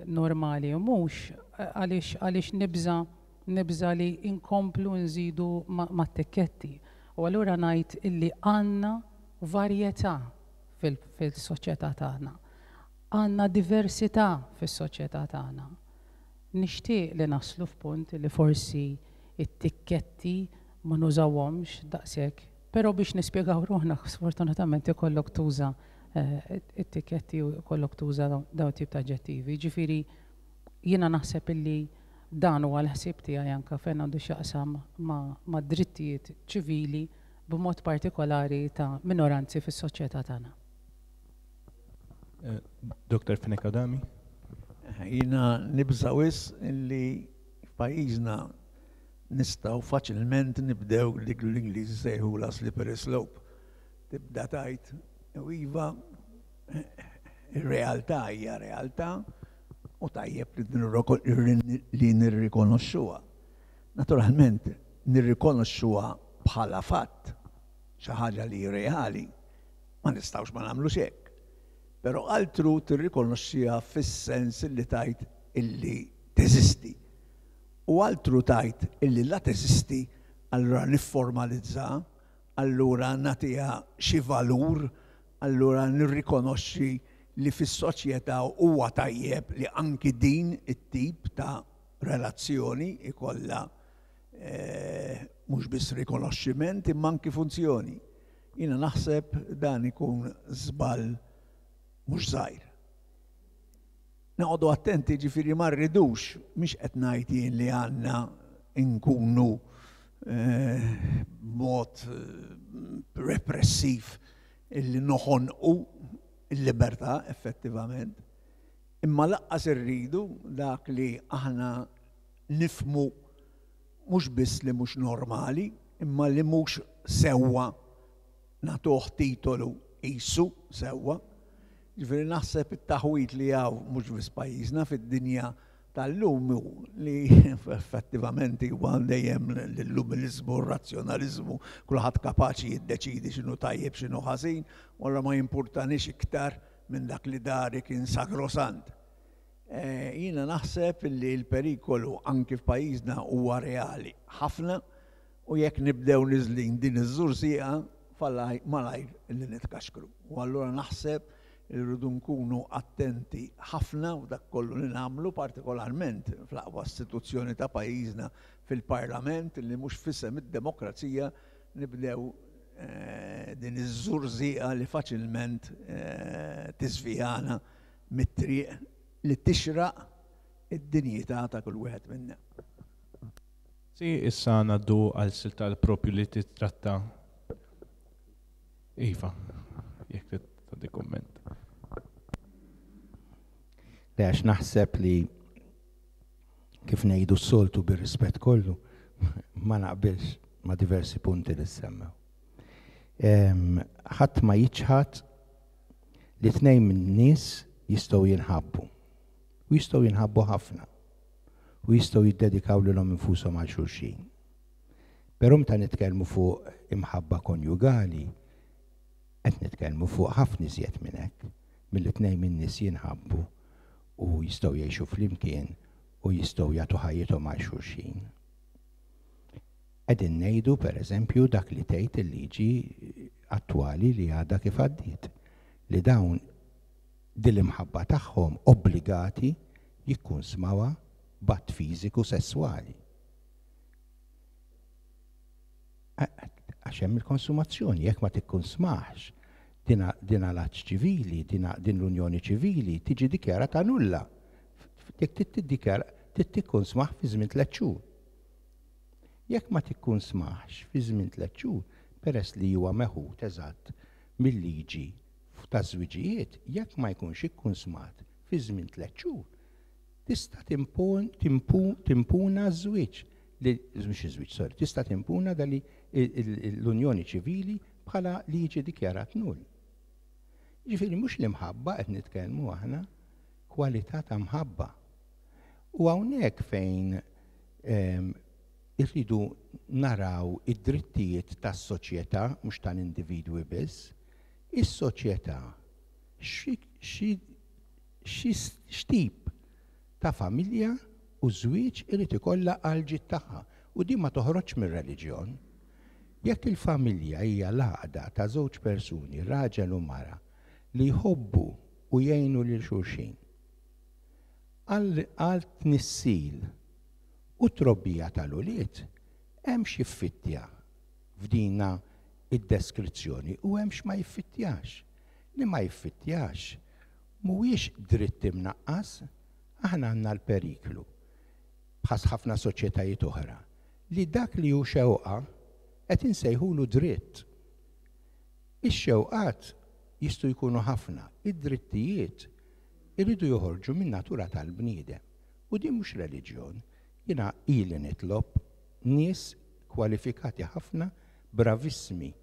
Normali u mhux, għaliex għaliex nibża nibża li inkomplu nżidu mat-tikketti. U allura ngħid illi għandna varjetà fil-soċjetà tagħna. Għandna diversità fis-soċjetà tagħna. Nixtieq li naslu f'punt li forsi it-tikketti ma nużawhomx daqshekk, però biex nispjegaw ruħna sfortunatament ikollok tuża eh, it-tikketti u jkollok tuża dawn tip ta' aġġettivi. Ġifieri jiena naħseb illi dan huwa l-ħsieb tiegħi anke fejn għandu x'jaqsam ma' drittijiet ċivili, b'mod partikolari ta' minoranzi fis-soċjetà tagħna. Eh, Doktor Fenech Adami? Jiena nibża' wisq illi f'pajjiżna nistgħu faċilment nibdew dik l-Ingliżi sejħula slippery slope. Tibda tgħid, u iva, ir-realtà hija realtà u tajjeb li nirrikonoxxuha. Naturalment, nirrikonoxxuha bħala fatt, xi ħaġa li reali, ma nistgħux ma nagħmlux hekk. Però altru tirrikonoxxiha fis-sens li tgħid illi teżisti. U altru tgħid illi la teżisti, allura nifformalizza, allura nagħtiha xi valur, allura nirrikonoxxi li fis-soċjetà huwa tajjeb li anki din it-tip ta' relazzjoni ikollha eh, mhux biss rikonoxximent imma anki funzjoni. Jiena naħseb dan ikun żball mhux żgħir. Noqogħdu attenti, ġifieri ma rridux, mhix qed ngħid jien li għandna nkunu eh, mod eh, repressiv illi noħonqu il-libertà effettivament. Imma lanqas irridu dak li aħna nifhmu mhux biss li mhux normali, imma li mhux sewwa nagħtuh titolu qisu sewwa. Ġifieri naħseb it-taħwit li hawn mhux biss pajjiżna, fid-dinja tal-lum, li effettivament huwa dejjem l-illuminizmu, r-razzjonalizmu, kulħadd kapaċi jiddeċidi x'inhu tajjeb, x'inhu ħażin, u allura ma jimpurtanix iktar minn dak li dari kien sagrosant. Eh, jiena naħseb li l-perikolu anki f'pajjiżna huwa reali ħafna u jekk nibdew niżlin din iż-żurżieqa malajr li nitkaxkru. U allura naħseb irridu nkunu attenti ħafna u dak kollu li nagħmlu, partikolarment fl-aqwa istituzzjoni ta' pajjiżna, fil-Parlament, li mhux f'isem id-demokrazija nibdew eh, din iż-żurżieqa li faċilment eh, tiżvijana mit-triq li tixraq id-dinjità ta' kull wieħed minna. Si, issa ngħaddu għal silta propju li titratta. Iva, jekk tagħti komment. Le, għax naħseb li kif ngħidu s-soltu, bir-rispett kollu, ma naqbilx ma' diversi punti li semmew. Ħadd ma jiċħad li tnejn minn nies jistgħu jinħabbu. U jistgħu jinħabbu ħafna. U jistgħu jiddedikaw lilhom infushom għal xulxin. Però meta nitkellmu fuq imħabba konjugali, qed nitkellmu fuq ħafna iżjed minn hekk, milli tnejn minn nies jinħabbu u jistgħu jgħixu flimkien u jistgħu jagħtu ħajjithom għal xulxin. Qegħdin ngħidu, pereżempju, dak li tgħid il-liġi attwali li għadha kif għaddiet, li dawn din l-imħabba tagħhom obbligati jikkunsmawha b'att fiżiku sesswali. Għax hemm il-konsumazzjoni, jekk ma tikkunsmax din l-att ċivili, din l-unjoni ċivili tiġi dikjarata nulla. Jekk tiddikjara, tikkunsmax fi żmien tliet xhur. Jekk ma tikkunsmax fi żmien tliet xhur, peress li huwa meħud eżatt mill-liġi ta' żwiġijiet, jekk ma jkunx ikkunsmat fi żmien tliet xhur, tista' timpuna ż-żwieġ, mhux iż-żwieġ, sorry, tista' timpuna dali l-unjoni ċivili bħala li jiġi dikjarat null. Ġifieri mhux l-imħabba qed nitkellmu aħna, kwalità ta' mħabba. U hawnhekk fejn ehm, irridu naraw id-drittijiet tas-soċjetà, mhux tal-individwi biss, is-soċjetà x'tip ta' familja u żwieġ irid ikollha għall-ġid tagħha u din ma toħroġx mir-reliġjon. Jekk il-familja hija l-għaqda ta' żewġ persuni, raġel u mara, li jħobbu u jgħinu lil xulxin, għal tnissil u trobbija tal-ulied, hemm x'jiffittja f'dina id-deskrizzjoni u hemm x'ma jiffittjax. Li ma jiffittjax mhuwiex dritt imnaqqas, aħna għandna l-periklu bħas ħafna soċjetajiet oħra li dak li hu xewqa qed insejħulu dritt. Ix-xewqat jistgħu jkunu ħafna, id-drittijiet iridu joħorġu min-natura tal-bniedem. U din mhux reliġjon. Jiena ili nitlob nies kwalifikati ħafna, bravissimi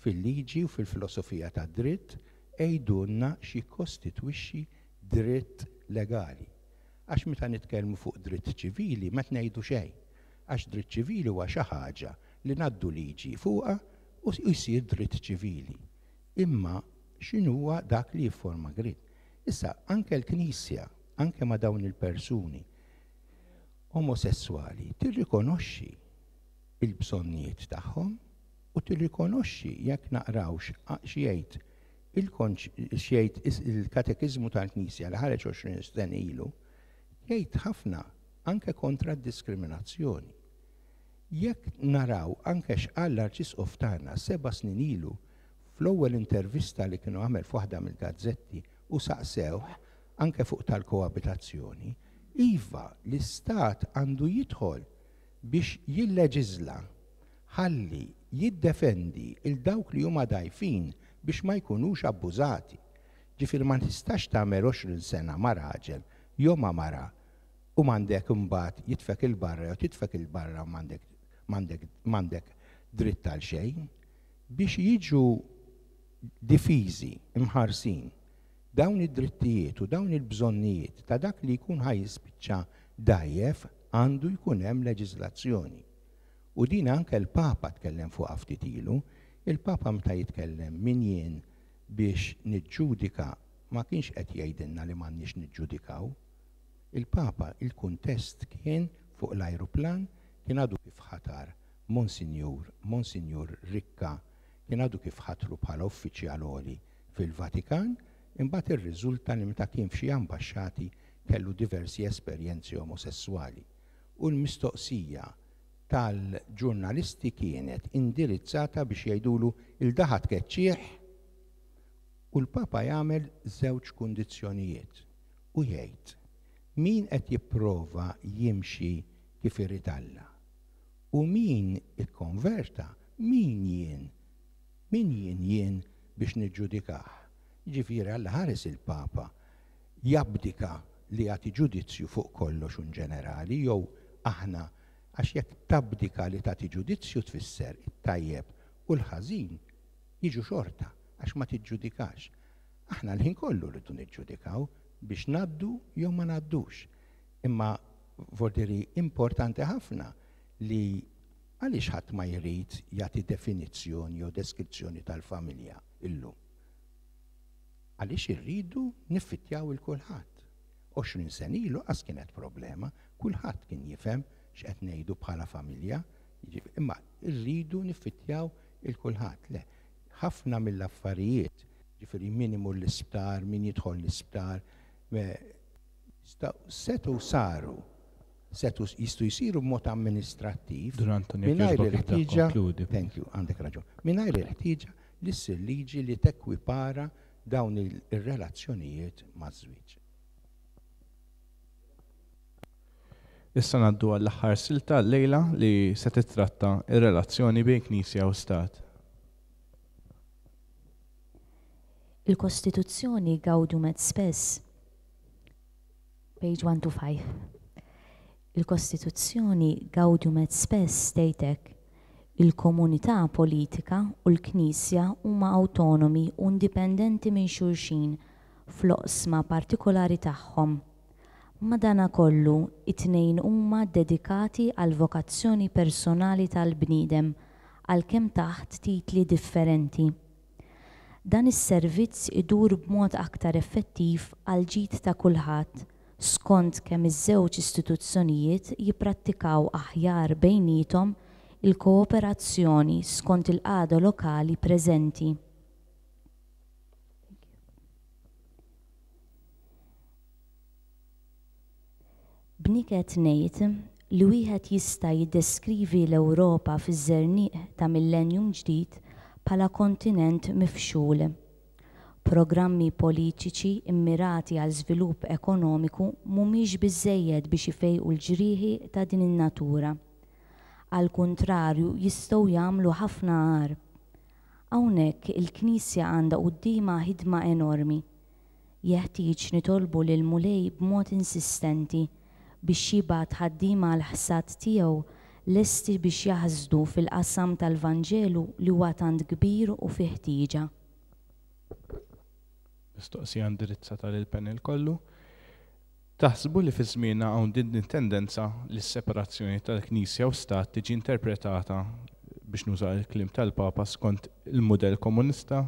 fil-liġi u fil-filosofija tad-dritt, għidulna x'jikkostitwixxi dritt legali. Għax meta nitkellmu fuq dritt ċivili ma ngħidu xejn. Għax dritt ċivili huwa xi ħaġa li ngħaddu liġi fuqha u jsir dritt ċivili. Imma x'inhuwa dak li jifforma dritt? Issa, anke l-Knisja, anke ma' dawn il-persuni omosessuali, tirrikonoxxi il-bżonnijiet tagħhom u tirrikonoxxi jekk naqrawx x'jgħid x'jgħid il-Katekiżmu tal-Knisja li ħareġ għoxrin sena ilu, jgħid ħafna anke kontra d-diskriminazzjoni. Jekk naraw anke x'qal l-Arċisqof tagħna seba' snin ilu fl-ewwel intervista li kienu għamel f'waħda mill-gazzetti u saqsewh anke fuq tal-koabitazzjoni, iva l-Istat għandu jidħol biex jilleġiżla ħalli jiddefendi il dawk li huma dgħajfin biex ma jkunux abbużati. Ġifieri ma tistax tagħmel għoxrin sena ma' raġel jew ma' mara u m'għandek imbagħad jitfek il-barra jew titfek il-barra u m'għandek m'għandek m'għandek dritt għal xejn. Biex jiġu difiżi, imħarsin dawn id-drittijiet u dawn il-bżonnijiet ta' dak li jkun ħaj jispiċċa dgħajjef, għandu jkun hemm leġiżlazzjoni. U din anke l-Papa tkellem fuqha ftit ilu. Il-Papa meta jitkellem min jien biex niġġudika ma kienx qed jgħidilna li m'għandniex niġġudikaw. Il-Papa, il-kuntest kien fuq l-ajruplan, kien għadu kif ħatar Monsinjur, Monsinjur Ricca, kien għadu kif ħatru bħala uffiċjal għoli fil-Vatikan, imbagħad irriżulta li meta kien f'xi ambaxxati kellu diversi esperjenzi omosessuali. U l-mistoqsija tal-ġurnalisti kienet indirizzata biex jgħidulu il-daħat tkeċċieħ, u l-Papa jagħmel żewġ kundizzjonijiet u jgħid min qed jipprova jimxi kif irid Alla u min ikkonverta, min jien, min jien jien biex niġġudikah. Jiġifieri Alla ħares il-Papa jabdika li jagħti ġudizzju fuq kollox un ġenerali, jew aħna, għax jekk tabdika li tagħti ġudizzju tfisser it-tajjeb u l-ħażin jiġu xorta għax ma tiġġudikax. Aħna l-ħin kollu rridu niġġudikaw biex ngħaddu jew ma ngħaddux. Imma vordiri importanti ħafna li għaliex ħadd ma jrid jagħti definizzjoni jew deskrizzjoni tal-familja illum. Għaliex irridu niffittjaw il kulħadd. għoxrin sena ilu qas kienet problema, kulħadd kien jifhem x'qed ngħidu bħala familja, imma rridu niffittjaw il kulħadd. Le, ħafna mill-affarijiet, ġifieri min imur l-isptar, min jidħol l-isptar, setu saru, setu jistgħu jsiru b'mod amministrattiv mingħajr il-ħtieġa, thank you, għandek raġun, mingħajr il-ħtieġa li ssir liġi li tekwipara dawn ir-relazzjonijiet maż-żwieġ. Issa ngħaddu għall-aħħar silta llejla li se titratta ir-relazzjoni bejn Knisja u Stat. Il-Kostituzzjoni Gaudium et Spes, page one two five. Il-Kostituzzjoni Gaudium et Spes tgħidlek il-komunità politika u l-Knisja huma autonomi u indipendenti minn xulxin fl-oqsma partikolari tagħhom. Madanakollu, it-tnejn huma dedikati għal vokazzjoni personali tal-bniedem għalkemm taħt titli differenti. Dan is-servizz idur b'mod aktar effettiv għal ġid ta' kulħadd skont kemm iż-żewġ istituzzjonijiet jipprattikaw aħjar bejniethom il-kooperazzjoni skont il-qagħda lokali preżenti. B'niket ngħid li wieħed jista' jiddeskrivi l-Ewropa fiż-żerniq ta' millennium ġdid bħala kontinent mifxul. Programmi politiċi immirati għal żvilupp ekonomiku mhumiex biżżejjed biex ifejqu l-ġrieħi ta' din in-natura. Għal kuntrarju jistgħu jagħmlu ħafna agħar. Hawnhekk il-Knisja għandha quddiemha ħidma enormi. Jeħtieġ nitolbu lil Mulej b'mod insistenti biex jibgħat ħaddiema għall-ħsad tiegħu lesti biex jaħsdu fil-qasam tal-Vanġelu li huwa tant kbir u fih ħtieġa. Mistoqsija indirizzata lil panel kollu. Taħsbu li fi żmienna hawn din it-tendenza li s-separazzjoni tal-Knisja u Stat tiġi interpretata, biex nuża l-kliem tal-Papa, skont il-mudell komunista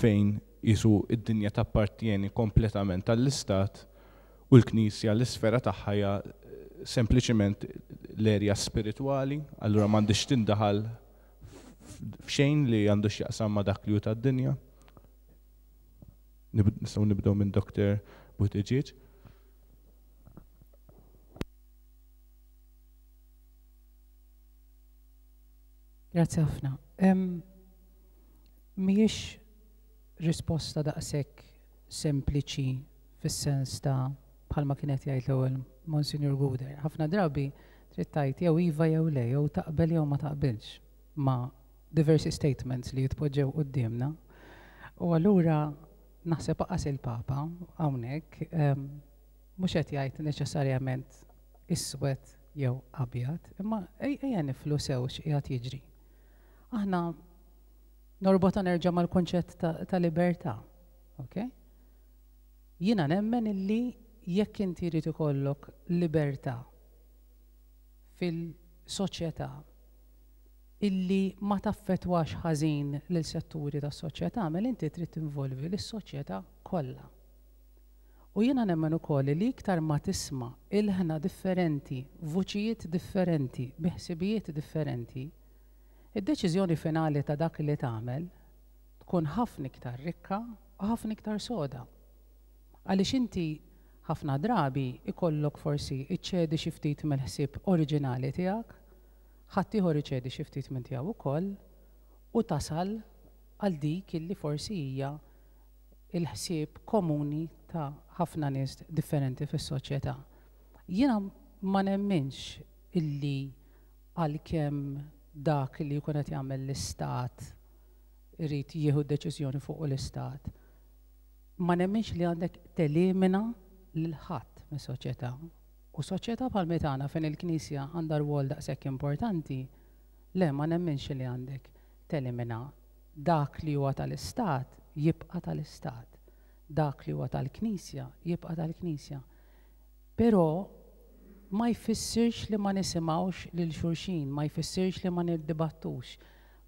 fejn jisu id-dinja tappartieni kompletament tal-Istat u l-Knisja l-isfera tagħha hija sempliċiment l-erja spiritwali, allura m'għandix tindaħal f'xejn li għandu x'jaqsam ma' dak li hu tad-dinja? Nistgħu nibdew minn Doktor Buttigieg. Grazzi ħafna. Mhijiex risposta daqshekk sempliċi fis-sens ta' bħalma kienet jgħid l-ewwel Monsignor Gouder. Ħafna drabi trid tgħid jew iva jew le, jew taqbel jew ma taqbilx ma' diversi statements li jitpoġġew quddiemna. U allura naħseb aqas il-Papa hawnhekk mhux qed jgħid neċessarjament iswed jew abjad, imma ejja niflu sew x'qiegħed jiġri. Aħna norbota nerġa' mal-kunċett ta' libertà, ok? Jiena nemmen illi jekk inti jrid ikollok libertà fil-soċjetà illi ma taffettwax ħażin lil setturi tas-soċjetà, mela inti trid tinvolvi lis-soċjetà kollha. U jiena nemmen ukoll li iktar ma tisma' ilħna differenti, vuċijiet differenti, bi ħsibijiet differenti, id-deċiżjoni finali ta' dak li tagħmel tkun ħafna iktar rikka u ħafna iktar soda. Għaliex inti ħafna drabi ikollok forsi iċċedi xi ftit mill-ħsieb oriġinali tiegħek, ħadd ieħor iċedi xi ftit minn tiegħu wkoll, u tasal għal dik illi forsi hija il-ħsieb komuni ta' ħafna nies differenti fis-soċjetà. Jiena ma nemminx illi għalkemm dak li jkun qed jagħmel l-istat irid jieħu deċiżjoni fuq l-istat, ma nemminx li għandek telimina lil ħadd mis-soċjetà. U soċjetà bħal tagħna fejn il-Knisja għandha rwol daqshekk importanti, le ma nemminx li għandek telimina dak li huwa tal-istat jibqa' tal-istat, dak li huwa tal-Knisja jibqa' tal-Knisja. Però ma jfissirx li ma nisimgħux lil xulxin, ma jfissirx li ma niddibattux.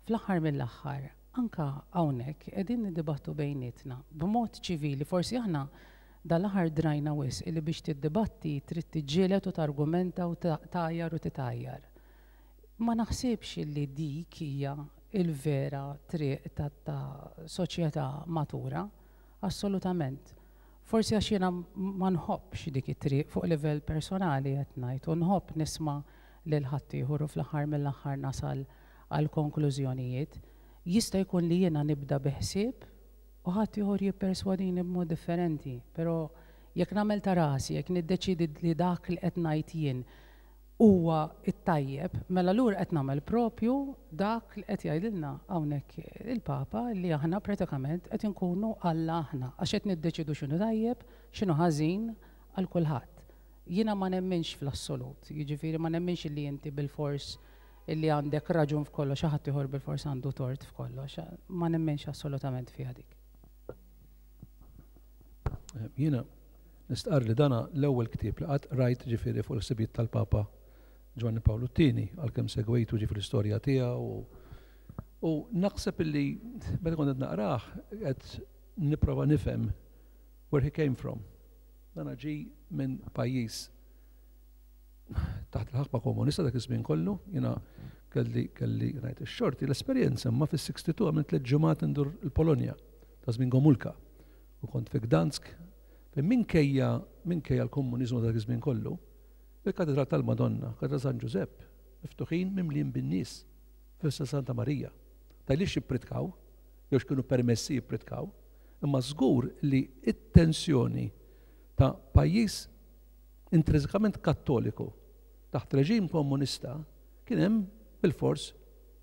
Fl-aħħar mill-aħħar, anka hawnhekk qegħdin niddibattu bejnietna b'mod ċivili, forsi aħna dal-aħħar drajna wisq li biex tiddibatti trid tiġġieled u targumenta u tgħajjar u titgħajjar. Ma naħsibx li dik hija il-vera triq ta' soċjetà matura, assolutament. Forsi għax jiena ma nħobbx dik it-triq fuq livell personali qed ngħid, u nħobb nisma' lil ħaddieħor u fl-aħħar mill-aħħar nasal għal konklużjonijiet. Jista' jkun li jiena nibda bi ħsieb u ħadd ieħor jipperswadini b'mod differenti, però jekk nagħmel ta' rasi, jekk niddeċidi li dak li qed ngħid jien huwa t-tajjeb, mela lura qed nagħmel propju dak li qed jgħidilna hawnhekk il-Papa li aħna pratikament qed inkunu Alla aħna, għax qed niddeċidu x'inhu tajjeb, x'inhu ħażin għal kulħadd. Jiena ma nemminx fl-assolut, jiġifieri ma nemminx li inti bilfors illi għandek raġun f'kollox, xi ħadd ieħor bilfors għandu tort f'kollox, ma nemminx assolutament fiha dik. Jiena nistqarr li dana l-ewwel ktieb li qatt rajt ġifieri fuq il-ħsibijiet tal-Papa Ġwanni Pawlu t-tieni, għalkemm segwejtu ġifieri l-istorja tiegħu u naħseb illi meta kont qed naqrah qed nipprova nifhem where he came from. Dana ġi minn pajjiż taħt il-ħakma komunista dak iż-żmien kollu, jiena kelli kelli ngħid ix-xorti l-esperjenza, ma fis-sitta u sittin għamilt tliet ġimgħat indur il-Polonja ta' żmien Gomulka u kont fi Gdansk, fejn minkejja minkejja l-komuniżmu dak iż-żmien kollu, il-Katedral tal-Madonna, Katedral San Ġużepp, miftuħin, mimlijin bin-nies fis Santa Marija. Tgħidlix jippritkaw, jew x'kienu permessi jippritkaw, imma żgur li it-tensjoni ta' pajjiż intrinsikament kattoliku taħt reġim komunista kien hemm bil-fors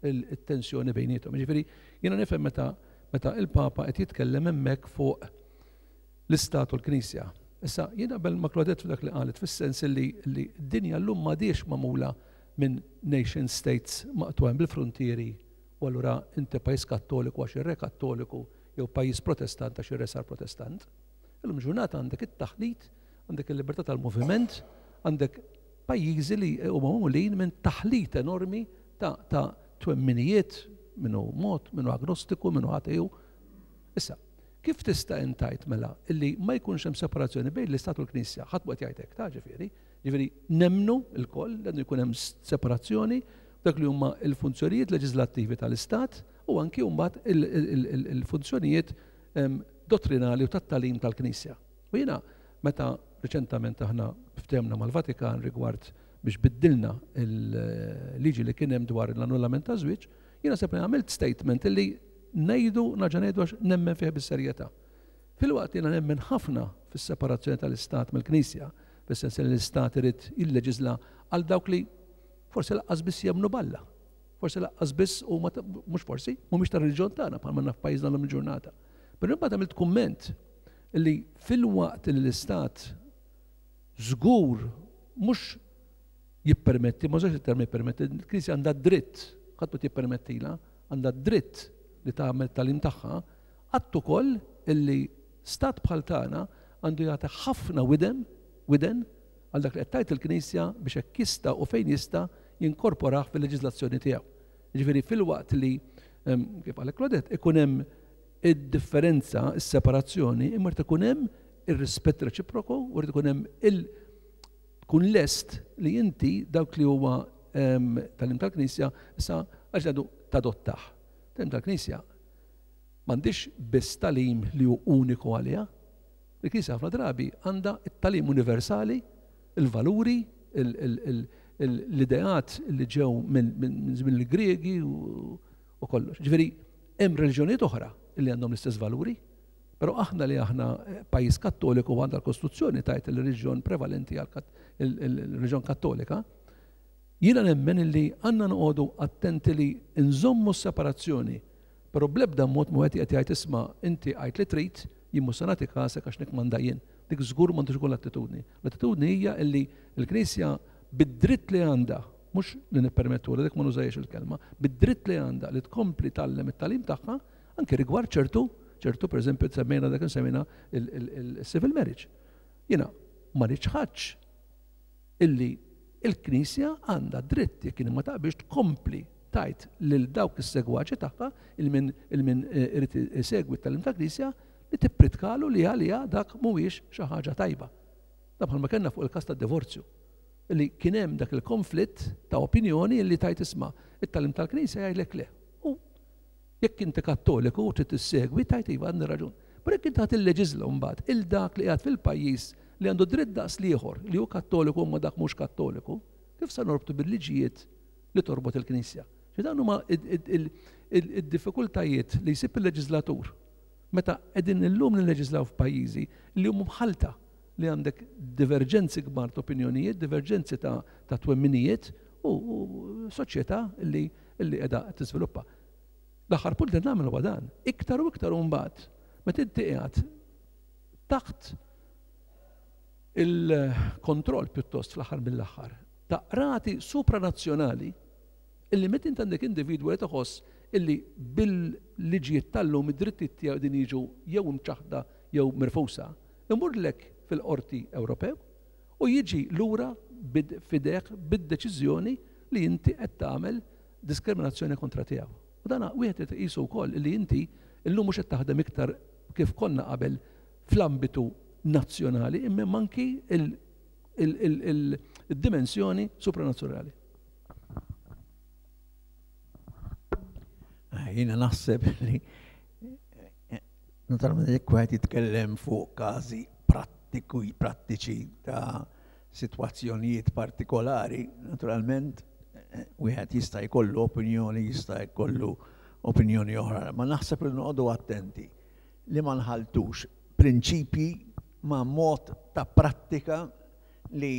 il-tensjoni bejniethom. Ġifieri jiena nifhem meta meta il-Papa qed jitkellem hemmhekk fuq l-Istat u l-Knisja. Issa, jiena naqbel ma' Claudette f'dak li qalet, fis-sens li li d-dinja llum m'għadhiex magħmula minn nation states maqtugħin bil-frontieri u allura inti pajjiż kattoliku għax ir-re kattoliku jew pajjiż protestant għax ir-re sar protestant. Illum ġurnata għandek it-taħlit, għandek il-libertà tal-moviment, għandek pajjiżi li huma magħmulin minn taħlit enormi ta', ta twemminijiet, minnu mod, minnu agnostiku, minnu ateju. Issa, kif tista' intajt mela illi ma jkunx hemm separazzjoni bejn l-Istat u l-Knisja? Ħadd qed jgħid hekk, ta' ġifieri. Ġifieri nemmnu lkoll li għandu jkun hemm separazzjoni dak li huma l-funzjonijiet leġislattivi tal-Istat u anki mbagħad il-funzjonijiet dottrinali u tat-tagħlim tal-Knisja. U jiena meta reċentament aħna ftehemna mal-Vatikan rigward biex biddilna il-liġi li kien hemm dwar l-annullament ta' żwieġ, jiena sepri għamilt statement illi ngħidu, nerġa' ngħidu għax nemmen fih bis-serjetà. Filwaqt jiena nemmen ħafna fis-separazzjoni tal-Istat mill-Knisja, fis-sens li l-Istat irid jilleġisla għal dawk li forsi lanqas biss jemmnu b'Alla. Forsi lanqas biss u mhux forsi, mhumiex tar-reliġjon tagħna bħalma naf pajjiżna llum il-ġurnata. Però imbagħad għamilt kumment li filwaqt li l-Istat żgur mhux jippermetti, ma użax il-terminu jippermetti, il-Knisja għandha dritt, ħadd jippermettila, għandha dritt li tagħmel tagħlim tagħha, għadt ukoll illi stat bħal tagħna għandu jagħti ħafna widen, widen għal dak li qed tgħid il-Knisja biex hekk jista' u fejn jista' jinkorporah fil-leġiżlazzjoni tiegħu. Ġifieri filwaqt li, kif qal Claudette, ikun hemm id-differenza, is-separazzjoni, imma ikun hemm ir-rispett reċiproku u rrid ikun hemm il tkun lest li inti dawk li huwa tagħlim tal-Knisja issa għax għadu tadottah. Tagħlim tal-Knisja m'għandix biss tagħlim li hu uniku għaliha. Il-Knisja ħafna drabi għandha it-tagħlim universali, il-valuri, l-ideat li ġew minn żmien il-Griegi u kollox. Ġifieri hemm reliġjonijiet oħra li għandhom l-istess valuri, però aħna li aħna pajjiż kattoliku, għandha l-Kostituzzjoni tajt il-reliġjon prevalenti, il-reliġjon kattolika, jiena nemmen li għandna noqogħdu attenti li nżommu s-separazzjoni, però bl-ebda mod mu qed jgħid, "Isma', inti għid li trid, jien mhux se nagħti kasek għax nikmanda jien." Dik żgur m'għandux ikun l-attitudni. L-attitudni hija illi l-Knisja bid-dritt li għandha, mhux li nippermettu dik, ma nużajx il-kelma, bid-dritt li għandha li tkompli tgħallem it-tagħlim tagħha anke rigward ċertu ċertu per eżempju semmejna dak semmejna il-civil marriage. Jiena ma niċħadx illi il-Knisja għandha dritt, jekk ma taqbilx, tkompli tgħid lil dawk is-segwaċi tagħha, il-min il-min eh, irid isegwi t-tagħlim ta' Knisja, li tippritkalu li għalija dak mhuwiex xi ħaġa tajba. Da bħalma kellna fuq il-każ tad-divorzju li kien hemm dak il-konflitt ta' opinjoni li tgħid, "Isma', it-tagħlim tal-Knisja jgħidlek le." U jekk inti kattoliku u trid tissegwi, tgħid, "Iva, għandi raġun." Però jekk inti ħa tilleġiżla mbagħad il dak li qiegħed fil-pajjiż li għandu dritt daqs l-ieħor li hu kattoliku ma dak mhux kattoliku, kif se norbtu bil-liġijiet li torbot il-Knisja? Dawn huma id-diffikultajiet li jsib il-leġislatur meta qegħdin illum nilleġislaw f'pajjiżi li huma mħalta, li għandek diverġenzi kbar ta' opinjonijiet, diverġenzi ta', ta twemminijiet u, u soċjetà li li qiegħda tiżviluppa. L-aħħar punt li nagħmel huwa dan, iktar u iktar mbagħad meta inti qiegħed taħt il-kontroll pjuttost fl-aħħar mill-aħħar ta' qrati supranazzjonali, illi meta inti għandek individwu li tħoss illi bil-liġijiet tal-lum id-drittijiet tiegħu din jiġu jew imċaħda jew mirfusa, imurlek fil-qorti Ewropew u jiġi lura f'idejh bid-deċiżjoni li inti qed tagħmel diskriminazzjoni kontra tiegħu. U dana wieħed irid iqisu wkoll li inti illum mhux qed taħdem iktar kif konna qabel fl-ambitu nazzjonali, imma anki il-dimensjoni supranazzjonali. Jiena naħseb li naturalment jekk wieħed jitkellem fuq każi prattiku prattiċi ta' sitwazzjonijiet partikolari, naturalment wieħed jista' jkollu opinjoni, jista' jkollu opinjoni oħra, ma naħseb li noqogħdu attenti li ma nħaltux prinċipji ma' mod ta' prattika li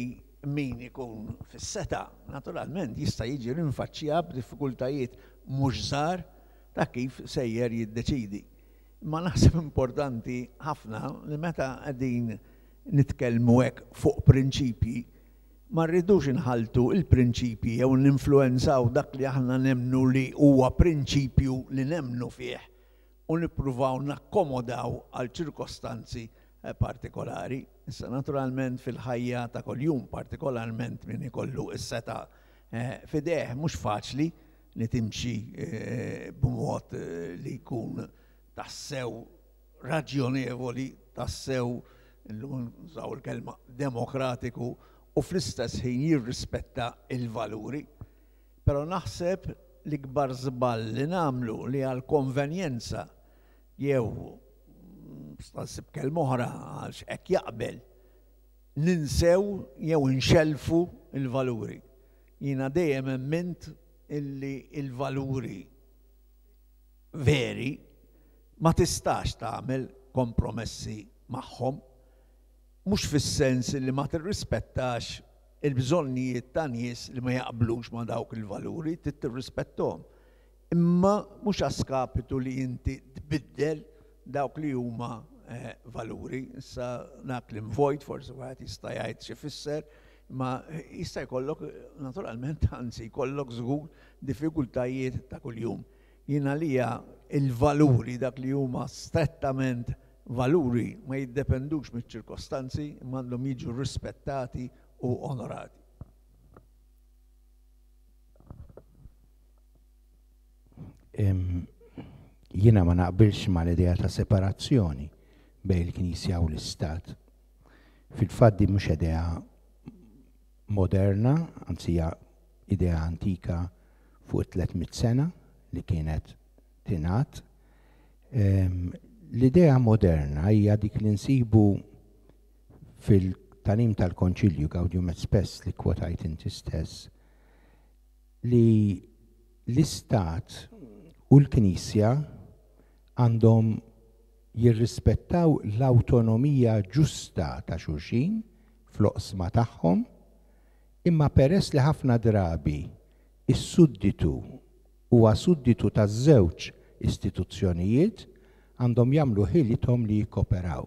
min ikun fis-seta, naturalment jista' jiġi rinfaċċja b'diffikultajiet mhux żgħar ta' kif sejjer jiddeċidi. Ma naħseb importanti ħafna li meta qegħdin nitkellmu hekk fuq prinċipji, ma rridux inħaltu il-prinċipji jew ninfluwenzaw dak li aħna nemmnu li huwa prinċipju li nemmnu fih u nippruvaw nakkomodaw għal ċirkostanzi partikolari. Issa naturalment fil-ħajja ta' kuljum, partikolarment min ikollu s-seta fideh, mhux faċli li timxi b'mod li jkun tassew raġjonevoli, tassew, illum nużaw il-kelma demokratiku, u fl-istess ħin jirrispetta il-valuri. Però naħseb l-ikbar żball li nagħmlu li għal konvenjenza jew nsib kelma oħra għax hekk jaqbel, ninsew jew inxelfu il-valuri. Jiena dejjem emmint illi il-valuri veri ma tistax tagħmel kompromessi magħhom, mhux fis-sens li ma tirrispettax il-bżonnijiet ta' nies li ma jaqblux ma' dawk il-valuri, trid tirrispetthom. Imma mhux għaskapitu li inti tbiddel dawk li huma valuri. Issa dak li vojt forsi wieħed jista' jgħid xi fisser, ma jista' jkollok naturalment, anzi jkollok żgur diffikultajiet ta' kuljum. Jien għalija il-valuri, dak li huma strettament valuri, ma jiddependux miċ-ċirkostanzi, imma għandhom jiġu rispettati u onorati. Jiena ma naqbilx mal-idea ta' separazzjoni bejn il-Knisja u l-Istat. Fil-fatt din mhux idea moderna, anzi hija idea antika fuq tliet mitt sena li kienet tingħad. L-idea moderna hija dik li nsibu fil-tagħlim tal-Konċilju Gaudium et Spes li kwotajt inti stess, li l-Istat u l-Knisja għandhom jirrispettaw l-awtonomija ġusta ta' xulxin fl-oqsma tagħhom, imma peress li ħafna drabi is-sudditu huwa sudditu taż-żewġ istituzzjonijiet, għandhom jagħmlu ħilithom li jikkoperaw.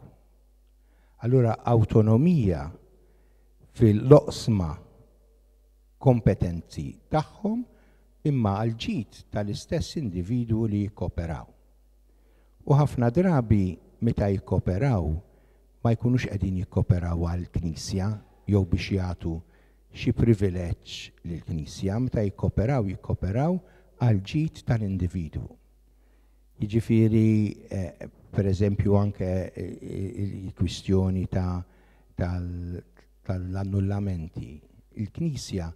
Allura awtonomija fil-oqsma kompetenzi tagħhom, imma għal ġid tal-istess individwu li jikkoperaw. U ħafna drabi meta jikkoperaw ma jkunux qegħdin jikkoperaw għall-Knisja jew biex jagħtu xi privileġġ lill-Knisja, meta jikkoperaw jikkoperaw għal ġid tal-individwu. Jiġifieri, per eżempju, anke il-kwistjoni tal-annullamenti. Il-Knisja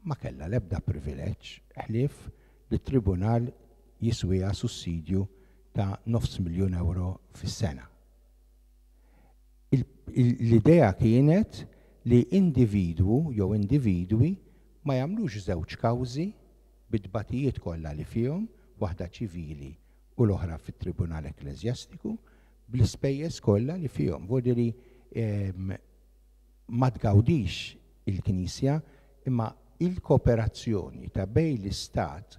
ma kellha l-ebda privileġġ ħlief li t-tribunal jiswiha sussidju ta' nofs miljun euro fis-sena. L-idea kienet li individwu jew individwi ma jagħmlux żewġ kawżi bit-tbatijiet kollha li fihom, waħda ċivili u l-oħra fit-Tribunal Ekkleżjastiku, bl-ispejjeż kollha li fihom. Vuol ma tgawdix il-Knisja, imma il-kooperazzjoni ta' bejn l-Istat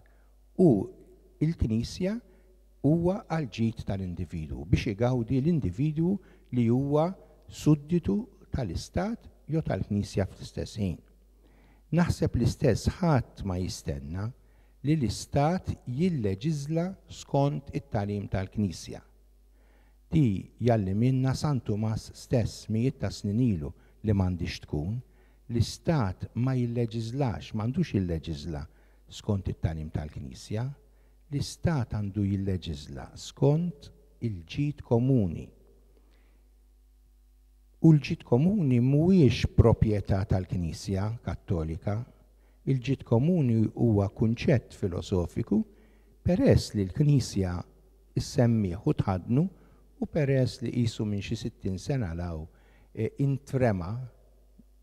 u il-Knisja huwa għal ġid tal-individwu, biex igawdi l-individwu li huwa sudditu tal-Istat jew tal-Knisja fl-istess ħin. Naħseb l-istess ħadd ma jistenna li l-Istat jilleġiżla skont it-tagħlim tal-Knisja. Di jalliminna San Tumas stess mijiet ta' snin ilu li m'għandix tkun, l-Istat ma jilleġiżlax, m'għandux jilleġiżla skont it-tagħlim tal-Knisja, l-Istat għandu jilleġiżla skont il-ġid komuni. U l-ġid komuni mhuwiex proprjetà tal-Knisja Kattolika. Il-ġid komuni huwa kunċett filosofiku peress li l-Knisja issemmih u tħaddnu u peress li qisu minn xi sittin sena 'l hawn intrema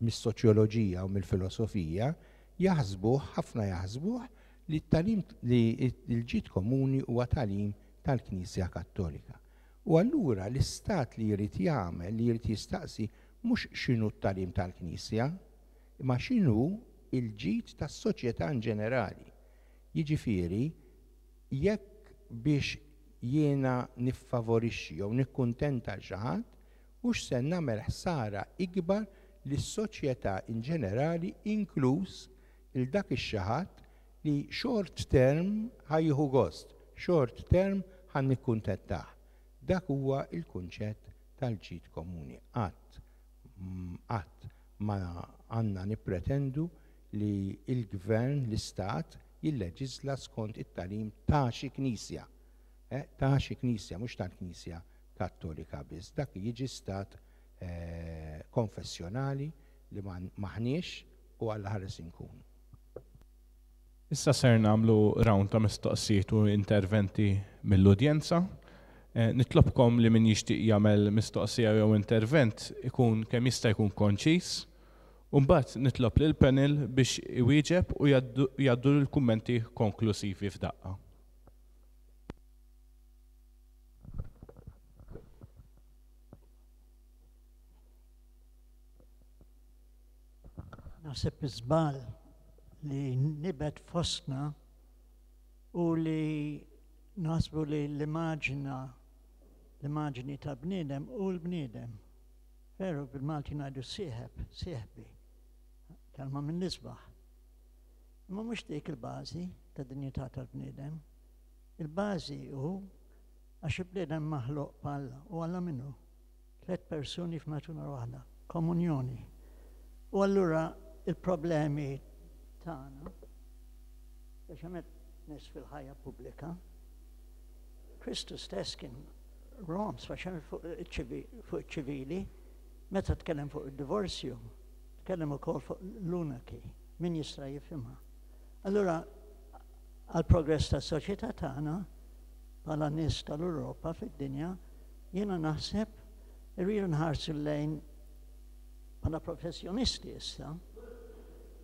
mis-soċjoloġija u mill-filosofija, jaħsbuh, ħafna jaħsbuh li t-tagħlim li l-ġid komuni huwa tagħlim tal-Knisja Kattolika. U allura l-istat li jrid jagħmel, li jrid jistaqsi mhux x'inhu t-tagħlim tal-Knisja, imma x'inhu il-ġid tas-soċjetà in ġenerali. Jiġifieri, jekk biex jiena niffavorixxi jew nikkuntenta l xi ħadd, hux se nagħmel ħsara ikbar lis-soċjetà in ġenerali, inkluż il dak ix-xi ħadd li short term ħa jieħu gost, short term ħa nikkuntentah. Dak huwa il-kunċett tal-ġid komuni. Qatt qatt ma għandna nippretendu li il-gvern, l-istat, jilleġisla skont it-tagħlim ta' xi knisja. Eh, ta' xi knisja, mhux tal-Knisja Kattolika biss. Dak jiġi stat eh, konfessjonali li m'aħniex u Alla ħares inkunu. Issa ser nagħmlu round ta' mistoqsijiet u interventi mill-udjenza. Eh, nitlobkom li min jixtieq jagħmel mistoqsija jew intervent ikun kemm jista' jkun konċis. U mbagħad nitlob lil panel biex iwieġeb u jgħaddu l-kummenti konklusivi f'daqqa. Naħseb iż-żball li nibet fostna u li naħsbu li l-immaġina l-immaġini ta' bniedem u l-bniedem. Veru bil-Malti ngħidu sieħeb, sieħbi, kelma minn nisbaħ. Imma mhux dik il-bażi ta' dinjità tal-bniedem. Il-bażi hu għax il-bniedem maħluq b'Alla u Alla minnu. Tliet persuni f'natura waħda, komunjoni. U allura il-problemi tagħna, speċjalment nies fil-ħajja pubblika, Kristu stess kien Rom, speċjalment fuq iċ-ċivili, meta tkellem fuq id-divorzju, tkellem ukoll fuq l-unaki, min jista' jifhimha. Allura għal progress tas-soċjetà tagħna bħala nies tal-Ewropa fid-dinja, jiena naħseb irridu nħarsu lejn bħala professjonisti issa,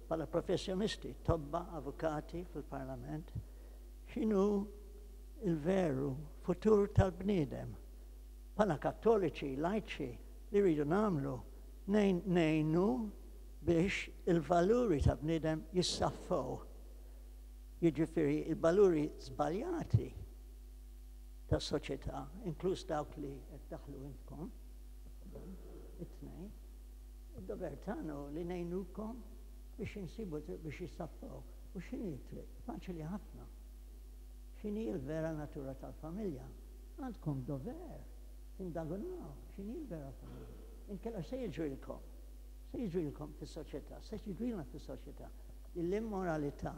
bħala professjonisti, tobba, avukati fil-parlament, x'inhu il-veru futur tal-bniedem. Bħala kattoliċi, lajċi, li rridu nagħmlu ngħinu biex il-valuri ta' bniedem jissaffow. Jiġifieri il-valuri żbaljati tas soċjetà, inkluż dawk li qed daħlu intkom, it-tnejn, id-dover tagħna li ngħinukom biex insibu triq biex jissaffow. U x'inhi t-triq? Faċli ħafna. X'inhi l-vera natura tal-familja? Għandkom dover tindagunaw x'inhi l-vera familja. Inkella se jiġrilkom, se jiġrilkom fis-soċjetà, se jiġrilna fis-soċjetà. L-immoralità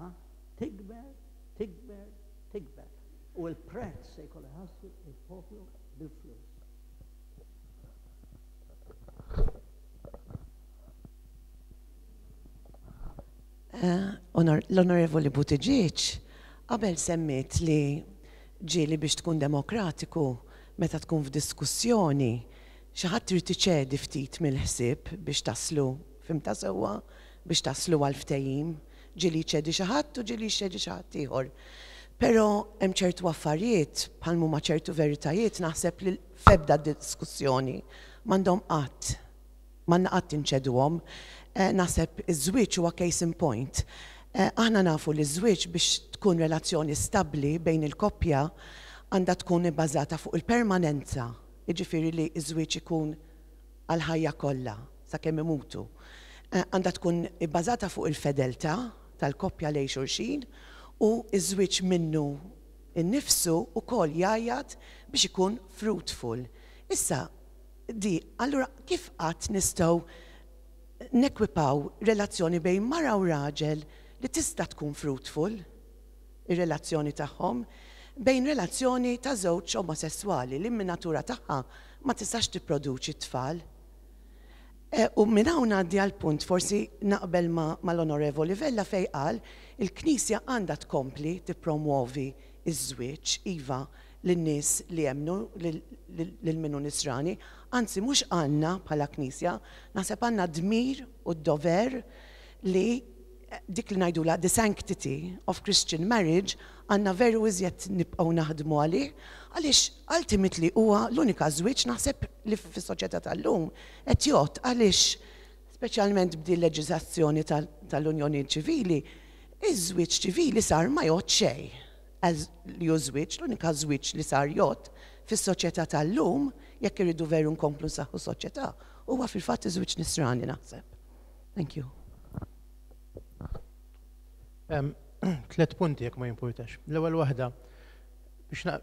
tikber, tikber, tikber. U l-prezz se jkollu jħallsu il-poplu bil-flus. L-Onorevoli Buttigieg qabel semmiet li ġieli biex tkun demokratiku meta tkun f'diskussjoni xi ħadd trid iċedi ftit mill-ħsieb biex taslu, fhimtha sewwa, biex taslu għal ftehim, ġieli jċedi xi ħadd u ġieli jċedi xi ħadd ieħor. Però hemm ċertu affarijiet bħal huma ċertu veritajiet naħseb li f'ebda diskussjoni m'għandhom qatt m'għandna qatt inċeduhom. Naħseb iż-żwieġ huwa case in point. Aħna nafu li ż-żwieġ biex tkun relazzjoni stabbli bejn il-koppja għandha tkun ibbażata fuq il-permanenza, jiġifieri li ż-żwieġ ikun għall-ħajja kollha sakemm imutu. Għandha tkun ibbażata fuq il-fedeltà tal-koppja lejn xulxin u ż-żwieġ minnu nnifsu wkoll jgħajjat biex ikun fruitful. Issa, di, allura kif qatt nistgħu nekwipaw relazzjoni bejn mara u raġel li tista' tkun fruitful, ir-relazzjoni tagħhom, bejn relazzjoni ta' żewġ omosessuali li min natura tagħha ma tistax tipproduċi t-tfal. Eh, u minn hawn ngħaddi għal punt forsi naqbel mal-Onorevoli Vella fej qal il-Knisja għandha tkompli tippromuovi iż-żwieġ iva lin-nies li jemmnu lil min hu nisrani, anzi mhux għandna bħala Knisja, naħseb għandna dmir u d-dover li dik li ngħidula the sanctity of Christian marriage għandna veru iżjed nibqgħu naħdmu għalih, għaliex ultimately huwa l-unika żwieġ naħseb li fis-soċjetà tal-lum qed jgħodd, għaliex speċjalment b'din leġiżlazzjoni tal-Unjoni Ċivili, iż-żwieġ ċivili sar ma jgħodd xejn. Li hu żwieġ, l-unika żwieġ li sar jgħodd fis-soċjetà tal-lum, jekk irridu veru nkomplu nsaħħu soċjetà, huwa fil-fatt iż-żwieġ nisrani, naħseb. Thank you. Tlet punti, jekk ma jimpurtax. L-ewwel waħda,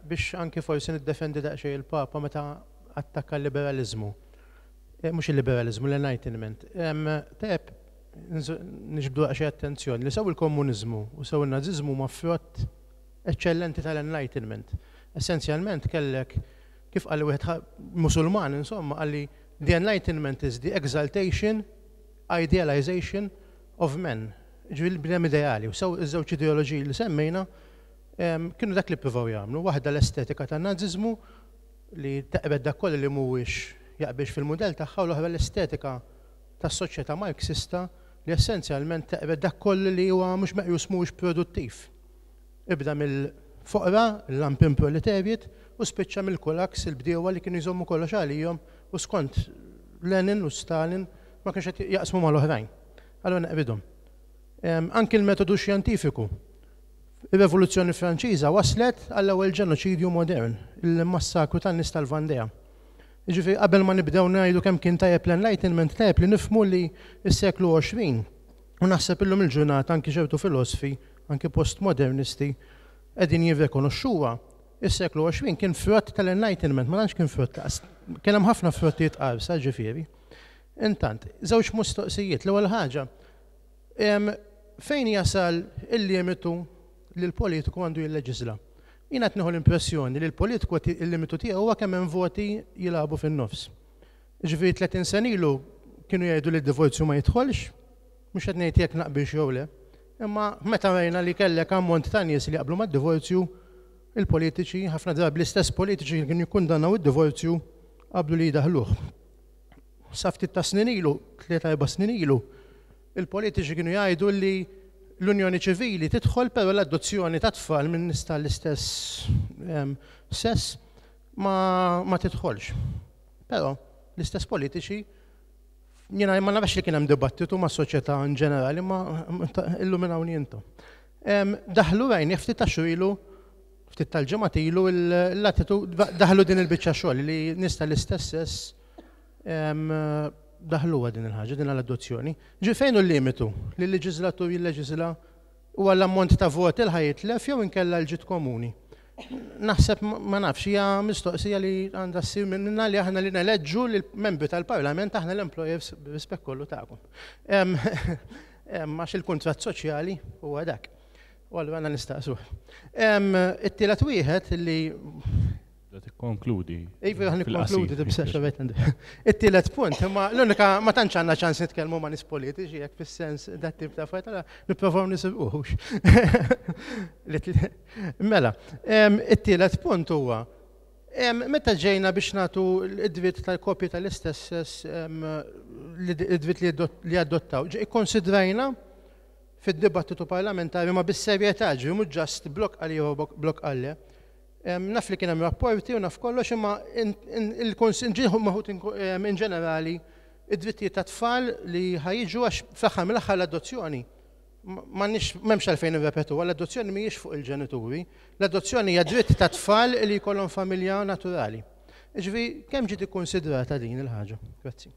biex anki forsi niddefendi daqsxejn il-Papa meta attakka l-liberalizmu. Eh, mhux il-liberalizmu, l-Enlightenment. Tajjeb niġbdu daqsxejn attenzjoni li sew il-komuniżmu u sew il-naziżmu huma frott eċċellenti tal-Enlightenment. Essenzjalment kellek, kif qal wieħed Musulman, insomma, qalli "The Enlightenment is the exaltation, idealization of men." Ġifieri l-bniedem ideali, u sew iż-żewġ ideoloġiji li semmejna kienu dak li ppruvaw jagħmlu. Waħda l-estetika tan-naziżmu li teqred dak kollu li mhuwiex jaqbilx fil-mudell tagħha, u l-oħra l-estetika tas-soċjetà Marxista li essenzjalment teqred dak kollu li huwa mhux meqjus mhuwiex produttiv. Ibda mill-foqra, l-lumpenproletariat, u spiċċa mill-kulaks, il-bdiewa li kienu jżommu kollox għalihom u skont Lenin u Stalin ma kienx qed jaqsmu mal-oħrajn. Allura neqridhom. Anki l-metodu xjentifiku. Ir-Revoluzzjoni Franċiża waslet għall-ewwel ġenoċidju modern, il-massakru tan-nies tal-Vandea. Ġifieri qabel ma nibdew ngħidu kemm kien tajjeb l-Enlightenment, tajjeb li nifhmu li s-seklu għoxrin, u naħseb illum il-ġurnata anki ċertu filosofi, anki postmodernisti, qegħdin jirrikonoxxuha, is-seklu għoxrin kien frott tal-Enlightenment, ma tantx kien frott, kien hemm ħafna frottijiet qarsa, ġifieri. Intant, żewġ mistoqsijiet. L-ewwel ħaġa, fejn jasal il-limitu li l-politiku għandu jilleġisla? Jiena qed nieħu l-impressjoni li l-politiku il-limitu tiegħu huwa kemm hemm voti jilagħbu fin-nofs. Ġifieri tletin sena ilu kienu jgħidu li d-divorzju ma jidħolx, mhux qed ngħid jekk naqbilx jew le, imma meta rajna li kellek ammont ta' nies li jaqblu mad-divorzju, il-politiċi, ħafna drabi l-istess politiċi li kienu jikkundannaw id-divorzju, qablu li jdaħluh. Sa ftit ta' snin ilu, tlieta erba' snin ilu, il-politiċi kienu jgħidu li l-unjoni ċivili tidħol, però l-adozzjoni ta' tfal minn nies tal-istess sess ma, ma tidħolx. Però l-istess politiċi, jiena ma nafx li kien hemm dibattitu ma' soċjetà in ġenerali, ma illuminawni intom. Daħlu rajni ftit ta' ilu, ftit tal-ġimgħat ilu l-attitu daħlu din il-biċċa xogħol li nies tal-istess sess, daħluha din il-ħaġa, din l-adozzjoni. Ġi fejn hu l-limitu li l-leġislatur jilleġisla, u għall-ammont ta' voti l jitlef jew inkella l-ġid komuni? Naħseb, ma nafx, hija mistoqsija li għandha ssir minna li aħna li neleġġu l-membri tal-Parlament, aħna l-employers, b'rispett kollu tagħkom. Għax il-kuntratt soċjali huwa dak. U allura għandna nistaqsu. It-tielet wieħed li Tikkonkludi. Iva, ħa nikkonkludi, tibsax. It-tielet punt, imma l-unika ma tantx għandna ċans nitkellmu ma' nies politiċi, jekk fis-sens dat tip ta' affarijiet, nipprovaw nisibquhux. Mela, it-tielet punt huwa meta ġejna biex nagħtu id-dritt tal-kopji tal-istess sess, id-dritt li adottaw, ikkonsidrajna fid-dibattitu parlamentari ma bis-serjetà, ġi mhux just blok għal jew blok għalle? Naf li kien hemm rapporti u naf kollox, imma il-ġieħu maħut in ġenerali id-drittijiet ta' tfal li ħa jiġu, għax fl-aħħar mill-aħħar l-adozzjoni m'għandniex, m'hemmx għalfejn nirrepetu, l-adozzjoni mhijiex fuq il-ġenituri, l-adozzjoni hija dritt ta' tfal li jkollhom familja naturali. Ġifieri kemm ġiet ikkonsidrata din il-ħaġa? Grazzi.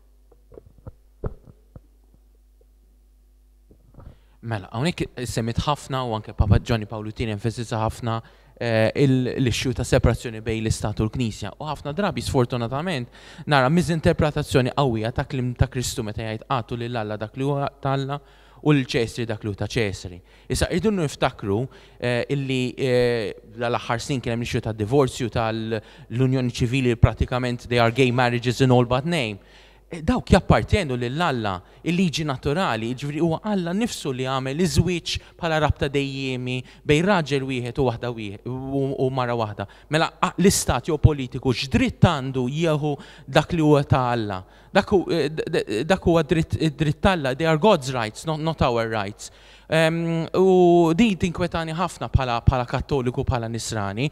Mela, hawnhekk semmit ħafna u anke Papa Giovanni Paolo Tieni enfasizza ħafna eh, l-issue ta' separazzjoni bejn l-Istat u l-Knisja. U ħafna drabi sfortunatament nara miżinterpretazzjoni qawwija ta' kliem ta' Kristu meta jgħid agħtu lil Alla dak li huwa t'Alla u lil Ċesri dak li huwa ta' Ċesri. Issa rridu niftakru eh, illi eh, l-aħħar snin kien hemm issue ta' divorzju tal-Unjoni Ċivili, pratikament they are gay marriages in all but name. Dawk jappartjenu lil Alla, il-liġi naturali, jiġifieri huwa Alla nnifsu li għamel iż-żwieġ bħala rabta dejjiemi bejn raġel wieħed u waħda u mara waħda. Mela l-istat jew politiku x'dritt għandu jieħu dak li huwa ta' Alla? Dak huwa dritt t'Alla, they are God's rights, not, not our rights. U din tinkwetani ħafna bħala Kattoliku, bħala Nisrani.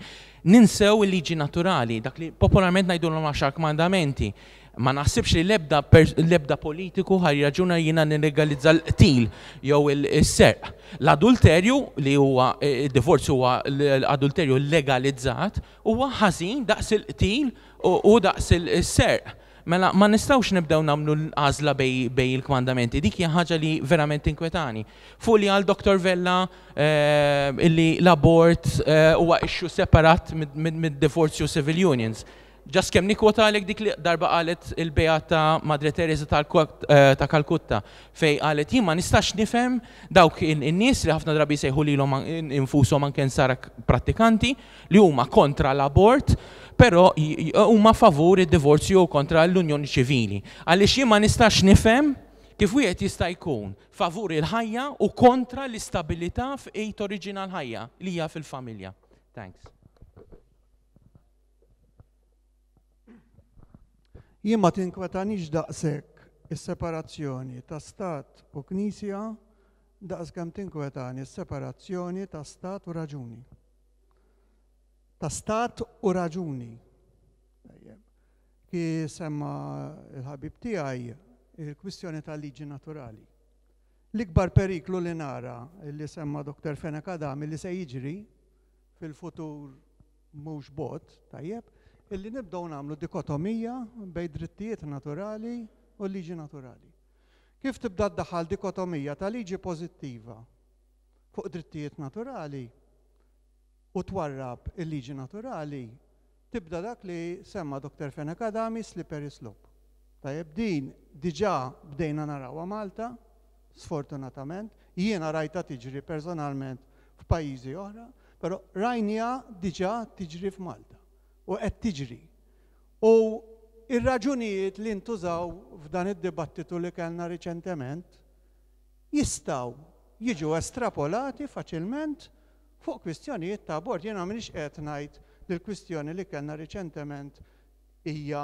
Ninsew il-liġi naturali, dak li popolarment ngħidulhom għaxar kmandamenti. Ma naħsibx li l-ebda politiku ħa jirraġuna jiena nillegalizza l-qtil jew is-serq. L-adulterju li huwa id-divorzju huwa l-adulterju legalizzat huwa ħażin daqs il-qtil u daqs il-serq. Mela ma nistgħux nibdew nagħmlu l-għażla bej il-kmandamenti. Dik hija ħaġa li verament inkwetani. Fuq li għal Doktor Vella illi l-abort huwa issue separat mid-divorzju civil unions. Ġas kemm nikkwotalek dik li darba qalet il-Beata Madre Teresa ta' Kalkutta, fej qalet jien ma nistax nifhem dawk in-nies li ħafna drabi jsejħu lilhom infushom anke nsara prattikanti li huma kontra l-abort, però huma favur id-divorzju u kontra l-unjoni ċivili. Għaliex jien ma nistax nifhem kif wieħed jista' jkun favur il-ħajja u kontra l-istabilità f'ejn oriġina l-ħajja li hija fil-familja. Thanks. Jien ma tinkwetanix daqshekk is-separazzjoni ta' stat u knisja daqs kemm tinkwetani s-separazzjoni ta' stat u raġuni. Ta' stat u raġuni. Ki semma il-ħabib tiegħi il-kwistjoni tal-liġi naturali. L-ikbar periklu li nara li semma Doktor Fenech Adami li se jiġri fil-futur mhux bot, tajjeb, illi nibdew nagħmlu dikotomija bejn drittijiet naturali u liġi naturali. Kif tibda ddaħħal dikotomija ta' liġi pożittiva fuq drittijiet naturali u twarrab il-liġi naturali, tibda dak li semma Doktor Fenech Adami slippery slope. Tajjeb, din diġà bdejna narawha Malta, sfortunatament, jiena rajta tiġri personalment f'pajjiżi oħra, però rajnija diġà tiġri f'Malta. U qed tiġri. U ir-raġunijiet li ntużaw f'dan id-dibattitu li kellna riċentement jistgħu jiġu estrapolati faċilment fuq kwistjonijiet ta' abort. Jiena m'iniex qed ngħid li l-kwistjoni li kellna riċentement hija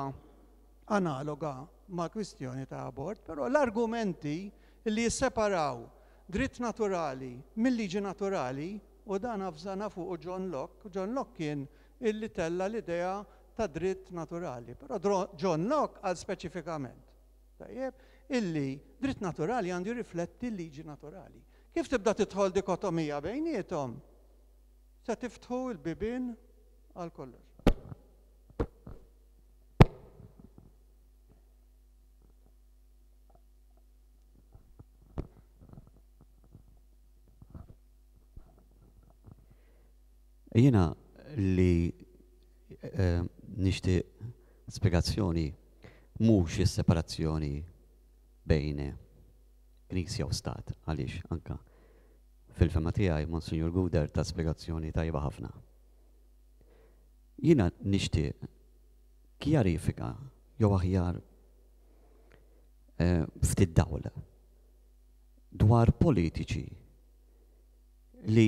analoga ma' kwistjoni ta' abort, però l-argumenti li jisseparaw dritt naturali mill-liġi naturali, u dan avżana fuq John Locke, John Locke kien illi tella l-idea ta' dritt naturali. Però John Locke għal speċifikament, tajjeb, illi dritt naturali għandu jirrifletti l-liġi naturali. Kif tibda tidħol dikotomija bejniethom, se tiftħu l-bibien għal kollox. Jiena li nixtieq spjegazzjoni mhux is-separazzjoni bejn Knisja u Stat, għaliex anka fil-fema tiegħi Monsinjur Gouder ta' spjegazzjoni tajba ħafna. Jiena nixtieq kjarifika jew aħjar ftit dawl dwar politiċi li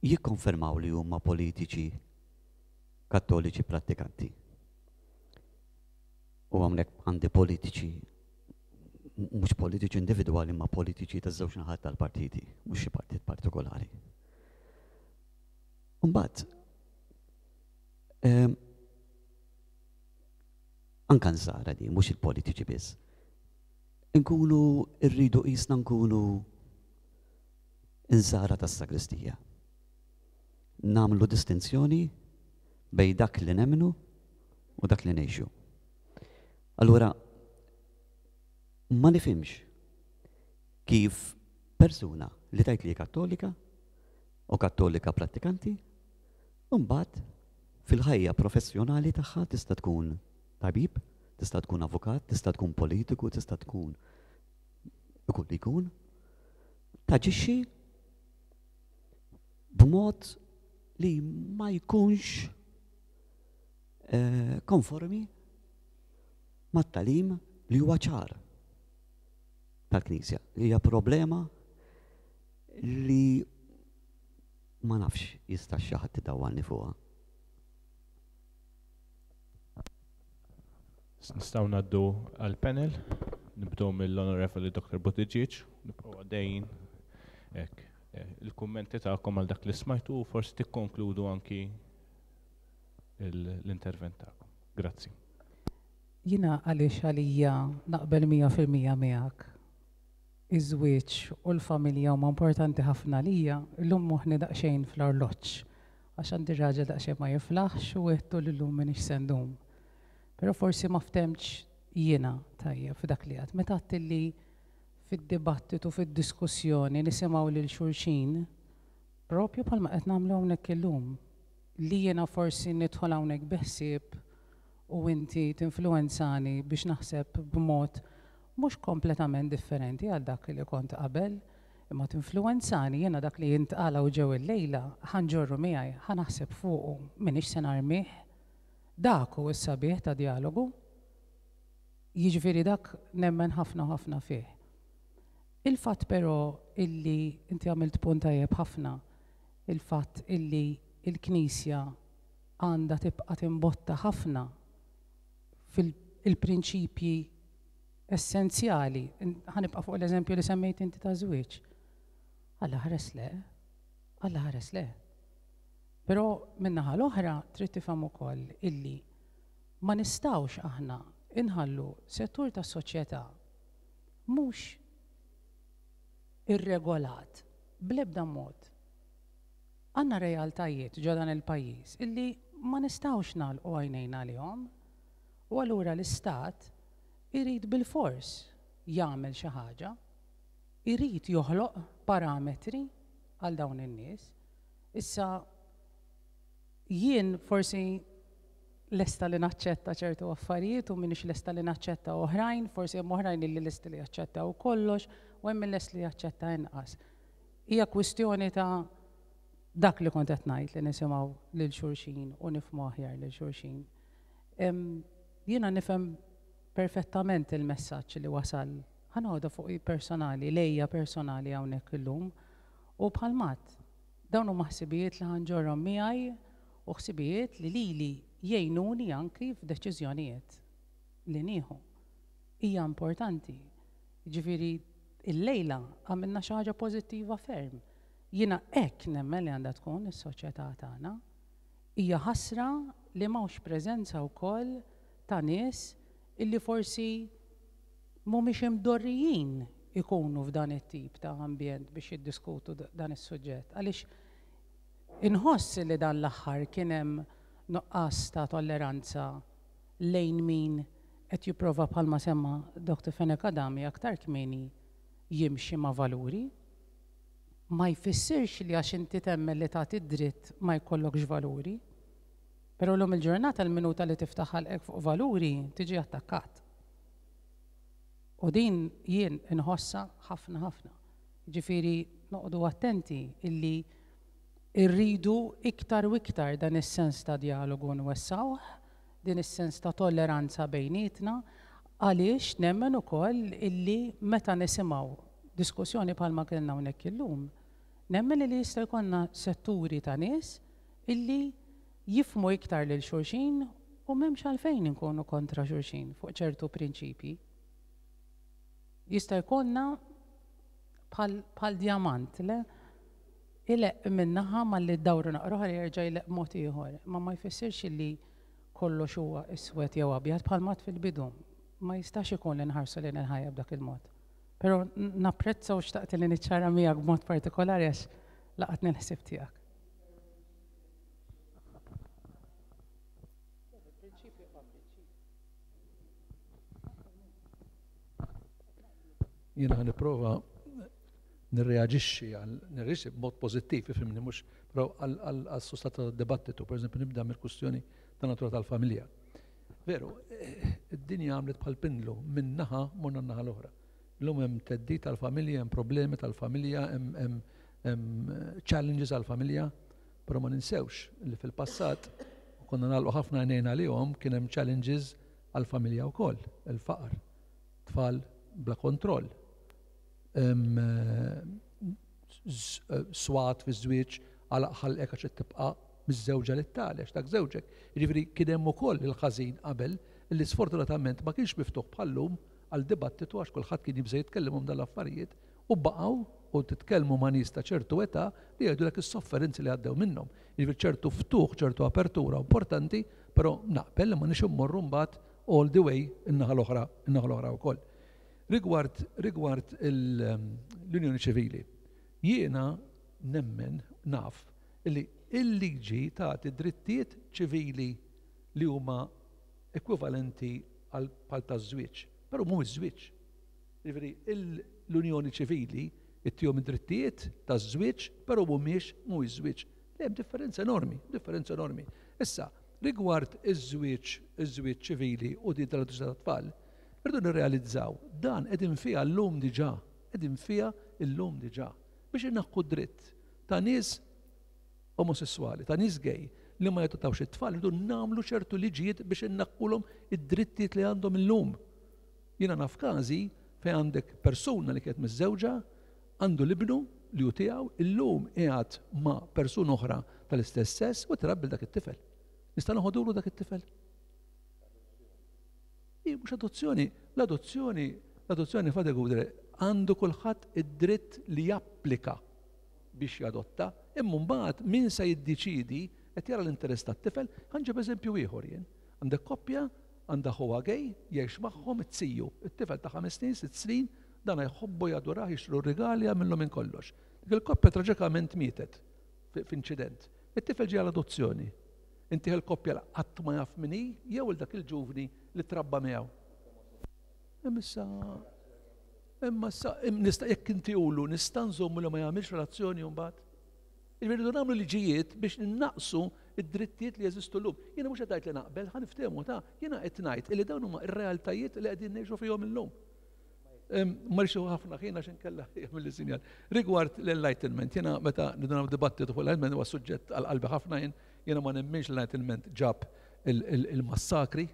jikkonfermaw li huma politiċi kattoliċi prattikanti. U hawnhekk għandi politiċi, mhux politiċi individwali, ma politiċi taż-żewġ naħat tal-partiti, mhux xi partit partikolari. Mbagħad anka nsara di, mhux il-politiċi biss. Nkunu rridu qisna nkunu insara tas-sagristija. Namlu distinzjoni bej dak li nemnu u dak li ngħixu. Allura, ma nifhimx kif persuna li tgħid li kattolika u kattolika prattikanti, mbagħad fil-ħajja professjonali tagħha tista' tkun tabib, tista' tkun avukat, tista' tkun politiku, tista' tkun ikun li jkun, taġixxi b'mod li ma jkunx konformi mat-talim li huwa ċar tal-Knisja. Hija problema li ma nafx jista' xi ħadd idawwalni fuqha. Nistgħu ngħaddu għall-panel, nibdew mill-Onorevoli Doctor Buttigieg, nibqgħu għaddejjin hekk. Il-kummenti tagħkom għal dak li smajtu u forsi tikkonkludu anki l-intervent tagħkom. Grazzi. Jiena għaliex għalija naqbel mija fil-mija miegħek. Iż-żwieġ u l-familja huma importanti ħafna għalija, illum moħħni daqsxejn fl-arloġġ. Għax għandi raġel daqsxejn ma jiflaħx u għedtu li llum m'iniex se ndum. Però forsi ma ftemx jiena tajjeb f'dak li għad. Meta għedt li fid-dibattitu, fid-diskussjoni nisimgħu lil xulxin, propju bħalma qed nagħmlu hawnhekk illum, li jiena forsi nidħol hawnhekk bi ħsieb u inti tinfluwenzani biex naħseb b'mod mhux kompletament differenti għal dak li kont qabel, imma tinfluwenzani jiena dak li jintqala u ġew illejla ħa nġorru miegħi, ħa naħseb fuqu, m'iniex se narmih. Dak hu s-sabiħ ta' dialogu. Jiġifieri dak nemmen ħafna ħafna fih. Il-fatt però illi inti għamilt punt tajjeb ħafna, il-fatt illi il-Knisja għandha tibqa' timbotta ħafna fil-prinċipji essenzjali. Ħanibqa' fuq l-eżempju li semmejt inti ta' żwieġ. Alla ħares le, Alla ħares le. Però min-naħa l-oħra trid tifhem ukoll illi ma nistgħux aħna inħallu settur tas-soċjetà mhux irregolat bl-ebda mod. Għandna realtajiet ġo dan il-pajjiż illi ma nistgħux nagħlqu għajnejna għalihom. U allura l-Istat irid bilfors jagħmel xi ħaġa, irid joħloq parametri għal dawn in-nies. Issa jien forsi lesta li naċċetta ċertu affarijiet u m'iniex lesta li naċċetta oħrajn, forsi hemm oħrajn li lesti li jaċċettaw kollox u hemm min lest li jaċċetta inqas. Hija kwistjoni ta' dak li kont qed ngħid li nisimgħu lil xulxin u nifhmu aħjar lil xulxin. Jiena nifhem perfettament il-messaġġ li wasal, ħa noħodha fuq personali, lejja personali hawnhekk illum, u bħalmat dawn huma ħsibijiet li ħanġorhom miegħi u ħsibijiet li lili jgħinuni anki f'deċiżjonijiet li nieħu. Hija importanti. Jiġifieri illejla għamilna xi ħaġa pożittiva ferm. Jiena hekk nemmen li għandha tkun is-soċjetà tagħna. Hija ħasra li m'hawnx preżenza wkoll ta' nies illi forsi mhumiex imdorrijin ikunu f'dan it-tip ta' ambjent biex jiddiskutu dan is-suġġett. Għaliex inħoss li dan l-aħħar kien hemm nuqqas ta' tolleranza lejn min qed jipprova bħalma semma Doctor Fenech Adami aktar kmieni jimxi ma' valuri. Ma jfissirx li għax inti temmen li tagħti dritt ma jkollokx valuri. Però llum il-ġurnata l-minuta li tiftaħ ħalqek fuq valuri tiġi attakkat. U din jien inħossa ħafna ħafna. Ġifieri noqogħdu attenti illi irridu iktar u iktar dan is-sens ta' dialogu nwessawh, din is-sens ta' tolleranza bejnietna, għaliex nemmen ukoll illi meta nisimgħu diskussjoni bħalma kellna hawnhekk illum, nemmen li jista' jkollna setturi ta' nies illi jifhmu iktar lil xulxin u m'hemmx għalfejn inkunu kontra xulxin fuq ċertu prinċipji. Jista' jkollna bħal djamant, le? Ileq minnaħa malli ddawru naqra oħra jerġa' jleq mod ieħor, ma ma jfissirx illi kollox huwa iswed jew abjad bħal mat fil-bidu. Ma jistax ikun li nħarsu lejn il-ħajja b'dak il-mod. Però napprezza u xtaqt li niċċara miegħek b'mod partikolari għax laqatni l-ħsieb tiegħek. Jiena ħa nipprova nirreaġixxi għal nirreaġixxi b'mod pożittiv, ifhimni, mhux però għal-sustanza tad-dibattitu, pereżempju nibda mill-kwistjoni ta' natura tal-familja. Veru, id-dinja għamlet bħal pindlu minn naħa morna n-naħa l-oħra. Illum hemm theddid tal-familja, hemm problemi tal-familja, hemm challenges għall-familja, però ma ninsewx li fil-passat konna nagħlqu ħafna għajnejna għalihom kien hemm challenges għall-familja wkoll, il-faqar, Tfal bla kontroll. Swat fi żwieġ għal ħalqek għax tibqa' miżżewġa lit-tali għax dak żewġek. Jiġifieri kien hemm ukoll il-ħażin qabel li sfortunatament ma kienx miftuħ bħal-lum għal dibattitu għax kulħadd kien jibża' jitkellem dal-affarijiet u baqgħu u titkellmu ma' nies ta' ċertu età li jgħidulek is-sofferenzi li għaddew minnhom. Jiġifieri ċertu ftuħ, ċertu apertura importanti, però naqbel li ma nix immorru mbagħad all the way in-naħa l-oħra, in-naħa l-oħra wkoll. Rigward, rigward l-Unjoni Ċivili, jiena nemmen naf li il-liġi tagħti drittijiet ċivili li huma ekwivalenti għal bħal taż-żwieġ, però mhuwiex żwieġ. Jiġifieri l-Unjoni Ċivili ittihom id-drittijiet taż-żwieġ, però mhumiex mhuwiex żwieġ. Hemm differenza enormi, differenza enormi. Issa, rigward iż-żwieġ, iż-żwieġ ċivili u din tal-adozzjoni tat-tfal, irridu nirrealizzaw dan qegħdin fiha llum diġà, qegħdin fiha llum diġà biex inaħħu dritt ta' nies omosessuali, ta' nies gay li ma jadottawx it-tfal, irridu nagħmlu ċertu liġijiet biex innaqqulhom id-drittijiet li għandhom illum. Jiena naf każi fejn għandek persuna li kienet miżżewġa, għandu l-ibnu li hu tiegħu, illum qiegħed ma' persuna oħra tal-istess sess u trabbi dak it-tifel. Nista' noħodulu dak it-tifel? Mhux adozzjoni, l-adozzjoni, l-adozzjoni Father Gouder għandu kulħadd id-dritt li japplika biex jadotta, imma mbagħad min se jiddeċidi qed jara l-interess tat-tifel. Ħa nġib eżempju ieħor jien. Għandek koppja għandha ħuha gay, jgħix magħhom it-tiju, it-tifel ta' ħames snin, sitt snin, dan jħobbu jadurah, jixtru rigali, jagħmillu minn kollox. Dik il-koppja traġikament mietet f'inċident. It-tifel ġie għall-adozzjoni. Inti il-koppja qatt ma jaf min hi jew il dak il-ġuvni li trabba miegħu. Imma issa imma issa nista' jekk inti ulu nista' nżommu li ma jagħmilx relazzjoni mbagħad. Irridu nagħmlu liġijiet biex innaqsu id-drittijiet li jeżistu llum. Jiena mhux qed ngħid li naqbel, ħa niftehmu ta' jiena qed ngħid li dawn huma r-realtajiet li qegħdin ngħixu fihom illum. Ma rridx ħafna ħin għax inkella jagħmel sinjal. Rigward l-enlightenment, jiena meta niduna dibattitu fuq l-enlightenment huwa suġġett għal qalbi ħafna jien, jiena ma nemminx l-enlightenment ġab il-massakri,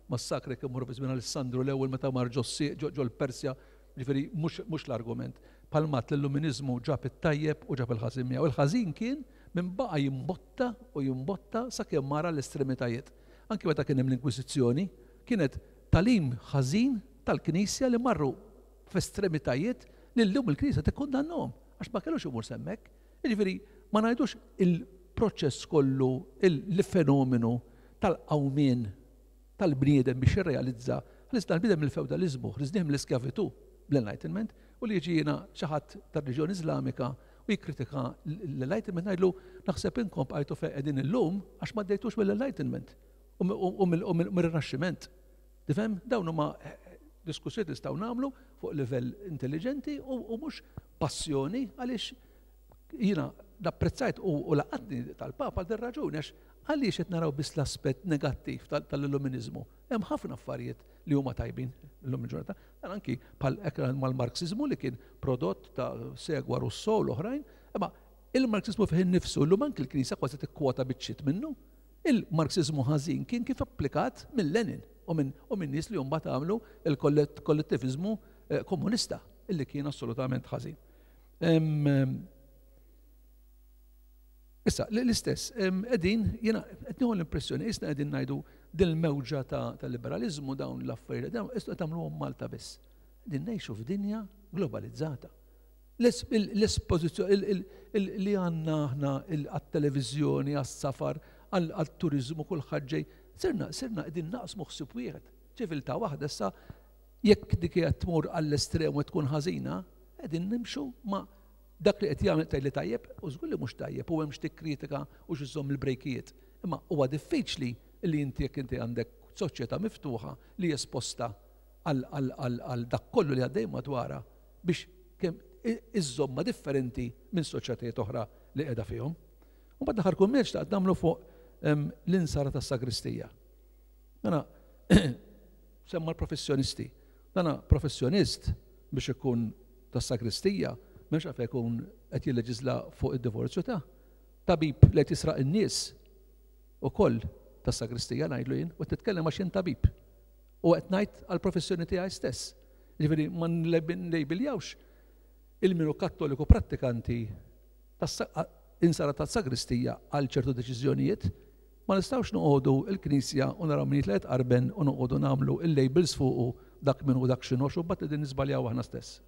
massakri kien morru fi żmien Alessandru l-ewwel meta mar ġo l-Persja, ġifieri mhux l-argument. Palmat l-illuminizmu ġab it-tajjeb u ġab il-ħażin miegħu. Il-ħażin kien minn baqa' jimbotta u jimbotta sakemm mara l-estremitajiet. Anki meta kien hemm l-Inkwiżizzjoni, kienet talim ħażin tal-Knisja li marru f'estremitajiet li llum il-Knisja tikkundannahom għax ma kellux imur semmek. Jiġifieri ma ngħidux il-proċess kollu, il-fenomenu tal-qawmien tal-bniedem biex jirrealizza ħlisna l-bniedem mill-feudalizmu, ħlisnih mill-iskjavitu bl-Enlightenment, u li jiġi jiena xi ħadd tar-reliġjoni Iżlamika u jikkritika l-Enlightenment ngħidlu naħseb inkom bqajtu fejn qegħdin illum għax ma ddejtux mill-Enlightenment u mir-Rinaxximent. Tifhem? Dawn huma diskussjoni nistgħu nagħmlu fuq livell intelligenti u mhux passjoni għaliex jiena napprezzajt u laqatni tal-Papa għal din raġuni għax għaliex qed naraw biss l-aspett negattiv tal-illuminizmu. Hemm ħafna affarijiet li huma tajbin illum il-ġurnata. Dan anki bħal ekran mal-Marxiżmu li kien prodott ta' segwa Rousseau l-oħrajn, imma il-Marxiżmu fih innifsu llum anki l-Knisja kważi tikkwota biċċiet minnu. Il-Marxiżmu ħażin kien kif applikat minn Lenin u minn nies li mbagħad għamlu il-kollettiviżmu komunista illi kien assolutament ħażin. Issa, l-istess, qegħdin, jiena qed nieħu l-impressjoni, isna qegħdin ngħidu din il-mewġa ta' liberalizmu dawn l-affarijiet, dawn qed tagħmluhom Malta biss. Qegħdin ngħixu f'dinja globalizzata. L-espożizzjoni li għandna aħna għat-televiżjoni, għas-safar, għat-turiżmu, kulħadd ġej, sirna sirna qegħdin naqsmu ħsieb wieħed, ċiviltà waħda. Issa jekk dik qed tmur għall-estrem u tkun ħażina, qegħdin nimxu ma' dak li qed jagħmel tgħidli tajjeb u żgur li mhux tajjeb u hemm xi kritika u xi żomm il-brejkijiet. Imma huwa diffiċli li inti jekk inti għandek soċjetà miftuħa li esposta għal dak kollu li għaddej madwarha biex kemm iżżomma differenti minn soċjetajiet oħra li qiegħda fihom. U mbagħad l-aħħar kumment xtaqt nagħmlu fuq l-insara tas-sagristija. Dana semma l-professjonisti. Dana professjonist biex ikun tas-sagristija m'hemmx għalfejn ikun qed jilleġisla fuq id-divorzju ta' tabib li qed jisraq in-nies ukoll tas-sagristija ngħidlu jien, u qed titkellem għax jien tabib. U qed ngħid għall-professjoni tiegħi stess. Ġifieri ma nlejbiljawx il-minu kattoliku prattikanti insara tas-sagristija għal ċertu deċiżjonijiet, ma nistgħux noqogħdu il-Knisja u naraw min jitla' jitqarben u noqogħdu nagħmlu il-labels fuqu dak min u dak x'inhu u mbagħad qegħdin niżbaljaw aħna stess.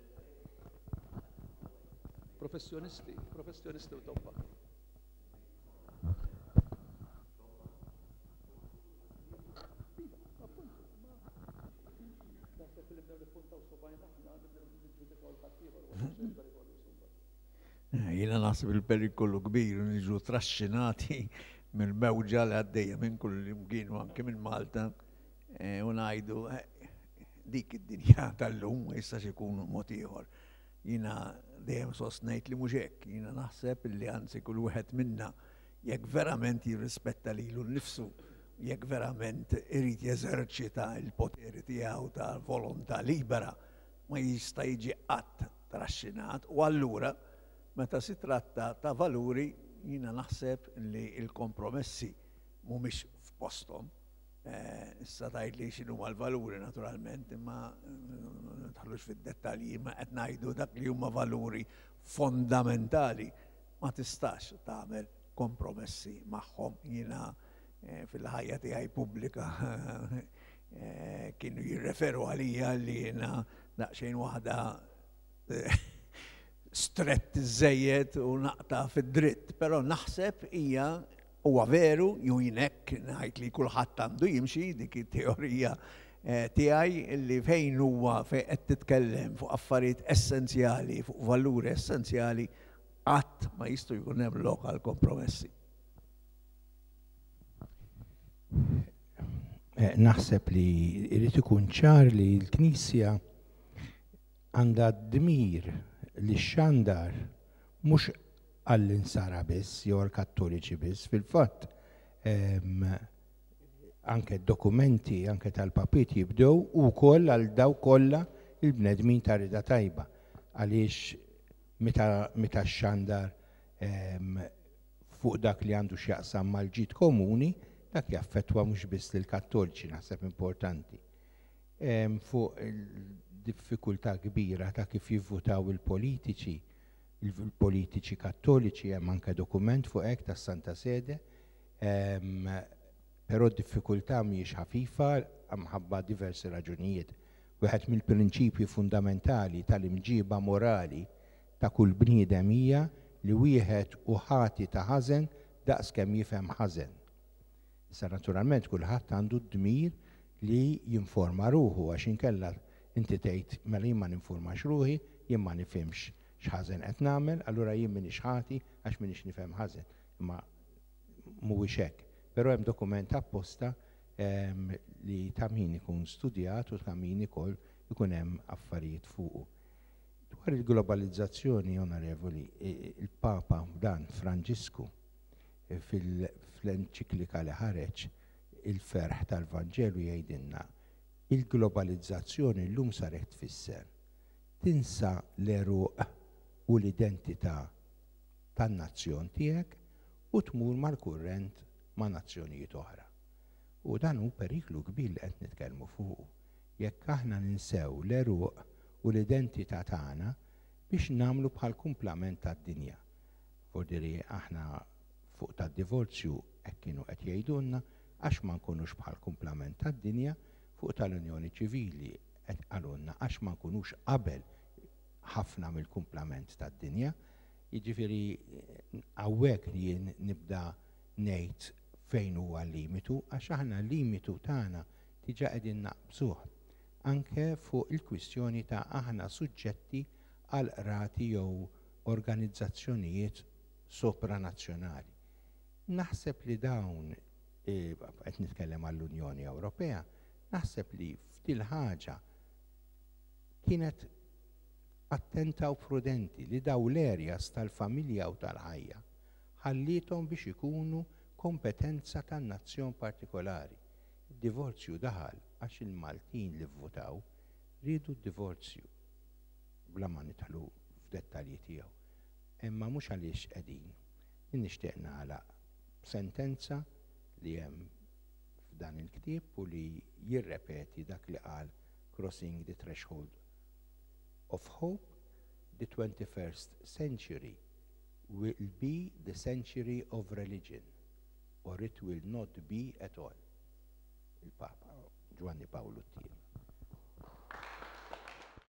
Professjonisti, professjonisti u tobba. Jiena naħseb il-perikolu kbir niġu traxxinati mill-mewġa li għaddejja minn kull imkien u anke minn Malta u ngħidu dik id-dinja tal-lum ma jistax ikun mod ieħor. Jiena dejjem sostnejt li mhux hekk, jiena naħseb li anzi kull wieħed minna jekk verament jirrispetta lilu nnifsu, jekk verament irid jeżerċita l-poteri tiegħu ta' volontà libera, ma jista' jiġi qatt traxxinat u allura meta si tratta ta' valuri jiena naħseb li l-kompromessi mhumiex f'posthom. Issa tgħid li x'inhuma l-valuri naturalment, imma nidħlux fid-dettalji, ma qed ngħidu dak li huma valuri fondamentali ma tistax tagħmel kompromessi magħhom. Jiena fil-ħajja tiegħi pubblika kienu jirreferu għalija li jiena daqsxejn waħda strett iżżejjed u naqta' fid-dritt, però naħseb hija huwa veru ju jien hekk ngħid li kulħadd għandu jimxi dik it-teorija tiegħi li fejn huwa fejn qed titkellem fuq affarijiet essenzjali, fuq valuri essenzjali, qatt ma jistgħu jkun hemm lok għal kompromessi. Naħseb li jrid ikun ċar li l-Knisja għandha dmir li xandar mhux għall-insara biss jew għall-Kattoliċi biss, fil-fatt anke dokumenti anke tal-papiet jibdew ukoll għal daw kollha il-bnedmin ta' rida tajba, għaliex meta xandar fuq dak li għandu x'jaqsam mal-ġid komuni, dak jaffettwa mhux biss lill-Kattoliċi, naħseb importanti. Fuq il-diffikultà kbira ta' kif jivvutaw il-politiċi, il-politiċi kattoliċi, hemm anke dokument fuq hekk tas-Santa Sede, però d-diffikultà mhijiex ħafifa minħabba diversi raġunijiet. Wieħed mill-prinċipji fundamentali tal-imġiba morali ta' kull bniedem hija li wieħed hu ħati ta' ħażen daqs kemm jifhem ħażen. Issa naturalment kulħadd għandu d-dmir li jinforma ruħu, għax inkella inti tgħid mela jien ma ninformax ruħi, jien ma nifhimx x'ħażen qed nagħmel, allura jien m'iniex ħati għax m'iniex nifhem ħażen. Imma mhuwiex hekk. Però hemm dokument apposta li ta' min ikun studjat u ta' min ukoll ikun hemm affarijiet fuqu. Dwar il-globalizzazzjoni, onorevoli, il-Papa dan Franġisku fl-enċiklika li ħareġ il-ferħ tal-Vanġelu jgħidilna il-globalizzazzjoni llum saret tfisser tinsa l-għeruq u l-identità tan-nazzjon tiegħek u tmur mal-kurrent ma' nazzjonijiet oħra. U dan hu periklu kbir li qed nitkellmu fuqu. Jekk aħna ninsew l-għeruq u l-identità tagħna biex nagħmlu bħal kumplament tad-dinja. Fordiri aħna fuq tad-divorzju hekk kienu qed jgħidulna għax ma nkunux bħal kumplament tad-dinja, fuq tal-Unjoni Ċivili qed qalulna għax ma nkunux qabel ħafna mill-kumplament tad-dinja. Jiġifieri hawnhekk jien nibda ngħid fejn huwa l-limitu, għax aħna l-limitu tagħna diġà qegħdin naqbżuh anke fuq il-kwistjoni ta' aħna suġġetti għal qrati jew organizzazzjonijiet sopranazzjonali. Naħseb li dawn, qed nitkellem għall-Unjoni Ewropea, naħseb li f'dil ħaġa kienet attenta u prudenti li daw l-areas tal-familja u tal-ħajja ħallithom biex ikunu kompetenza tan-nazzjon partikolari. Id-divorzju daħal għax il-Maltin li vvutaw riedu d-divorzju bla ma nidħlu f'dettalji tiegħu. Imma mhux għaliex qegħdin. Nixtieq nagħlaq sentenza li hemm f'dan il-ktieb u li jirrepeti dak li qal Crossing the Threshold of hope, the twenty-first century will be the century of religion, or it will not be at all. Il-Papa Ġwanni Pawlu t-tieni.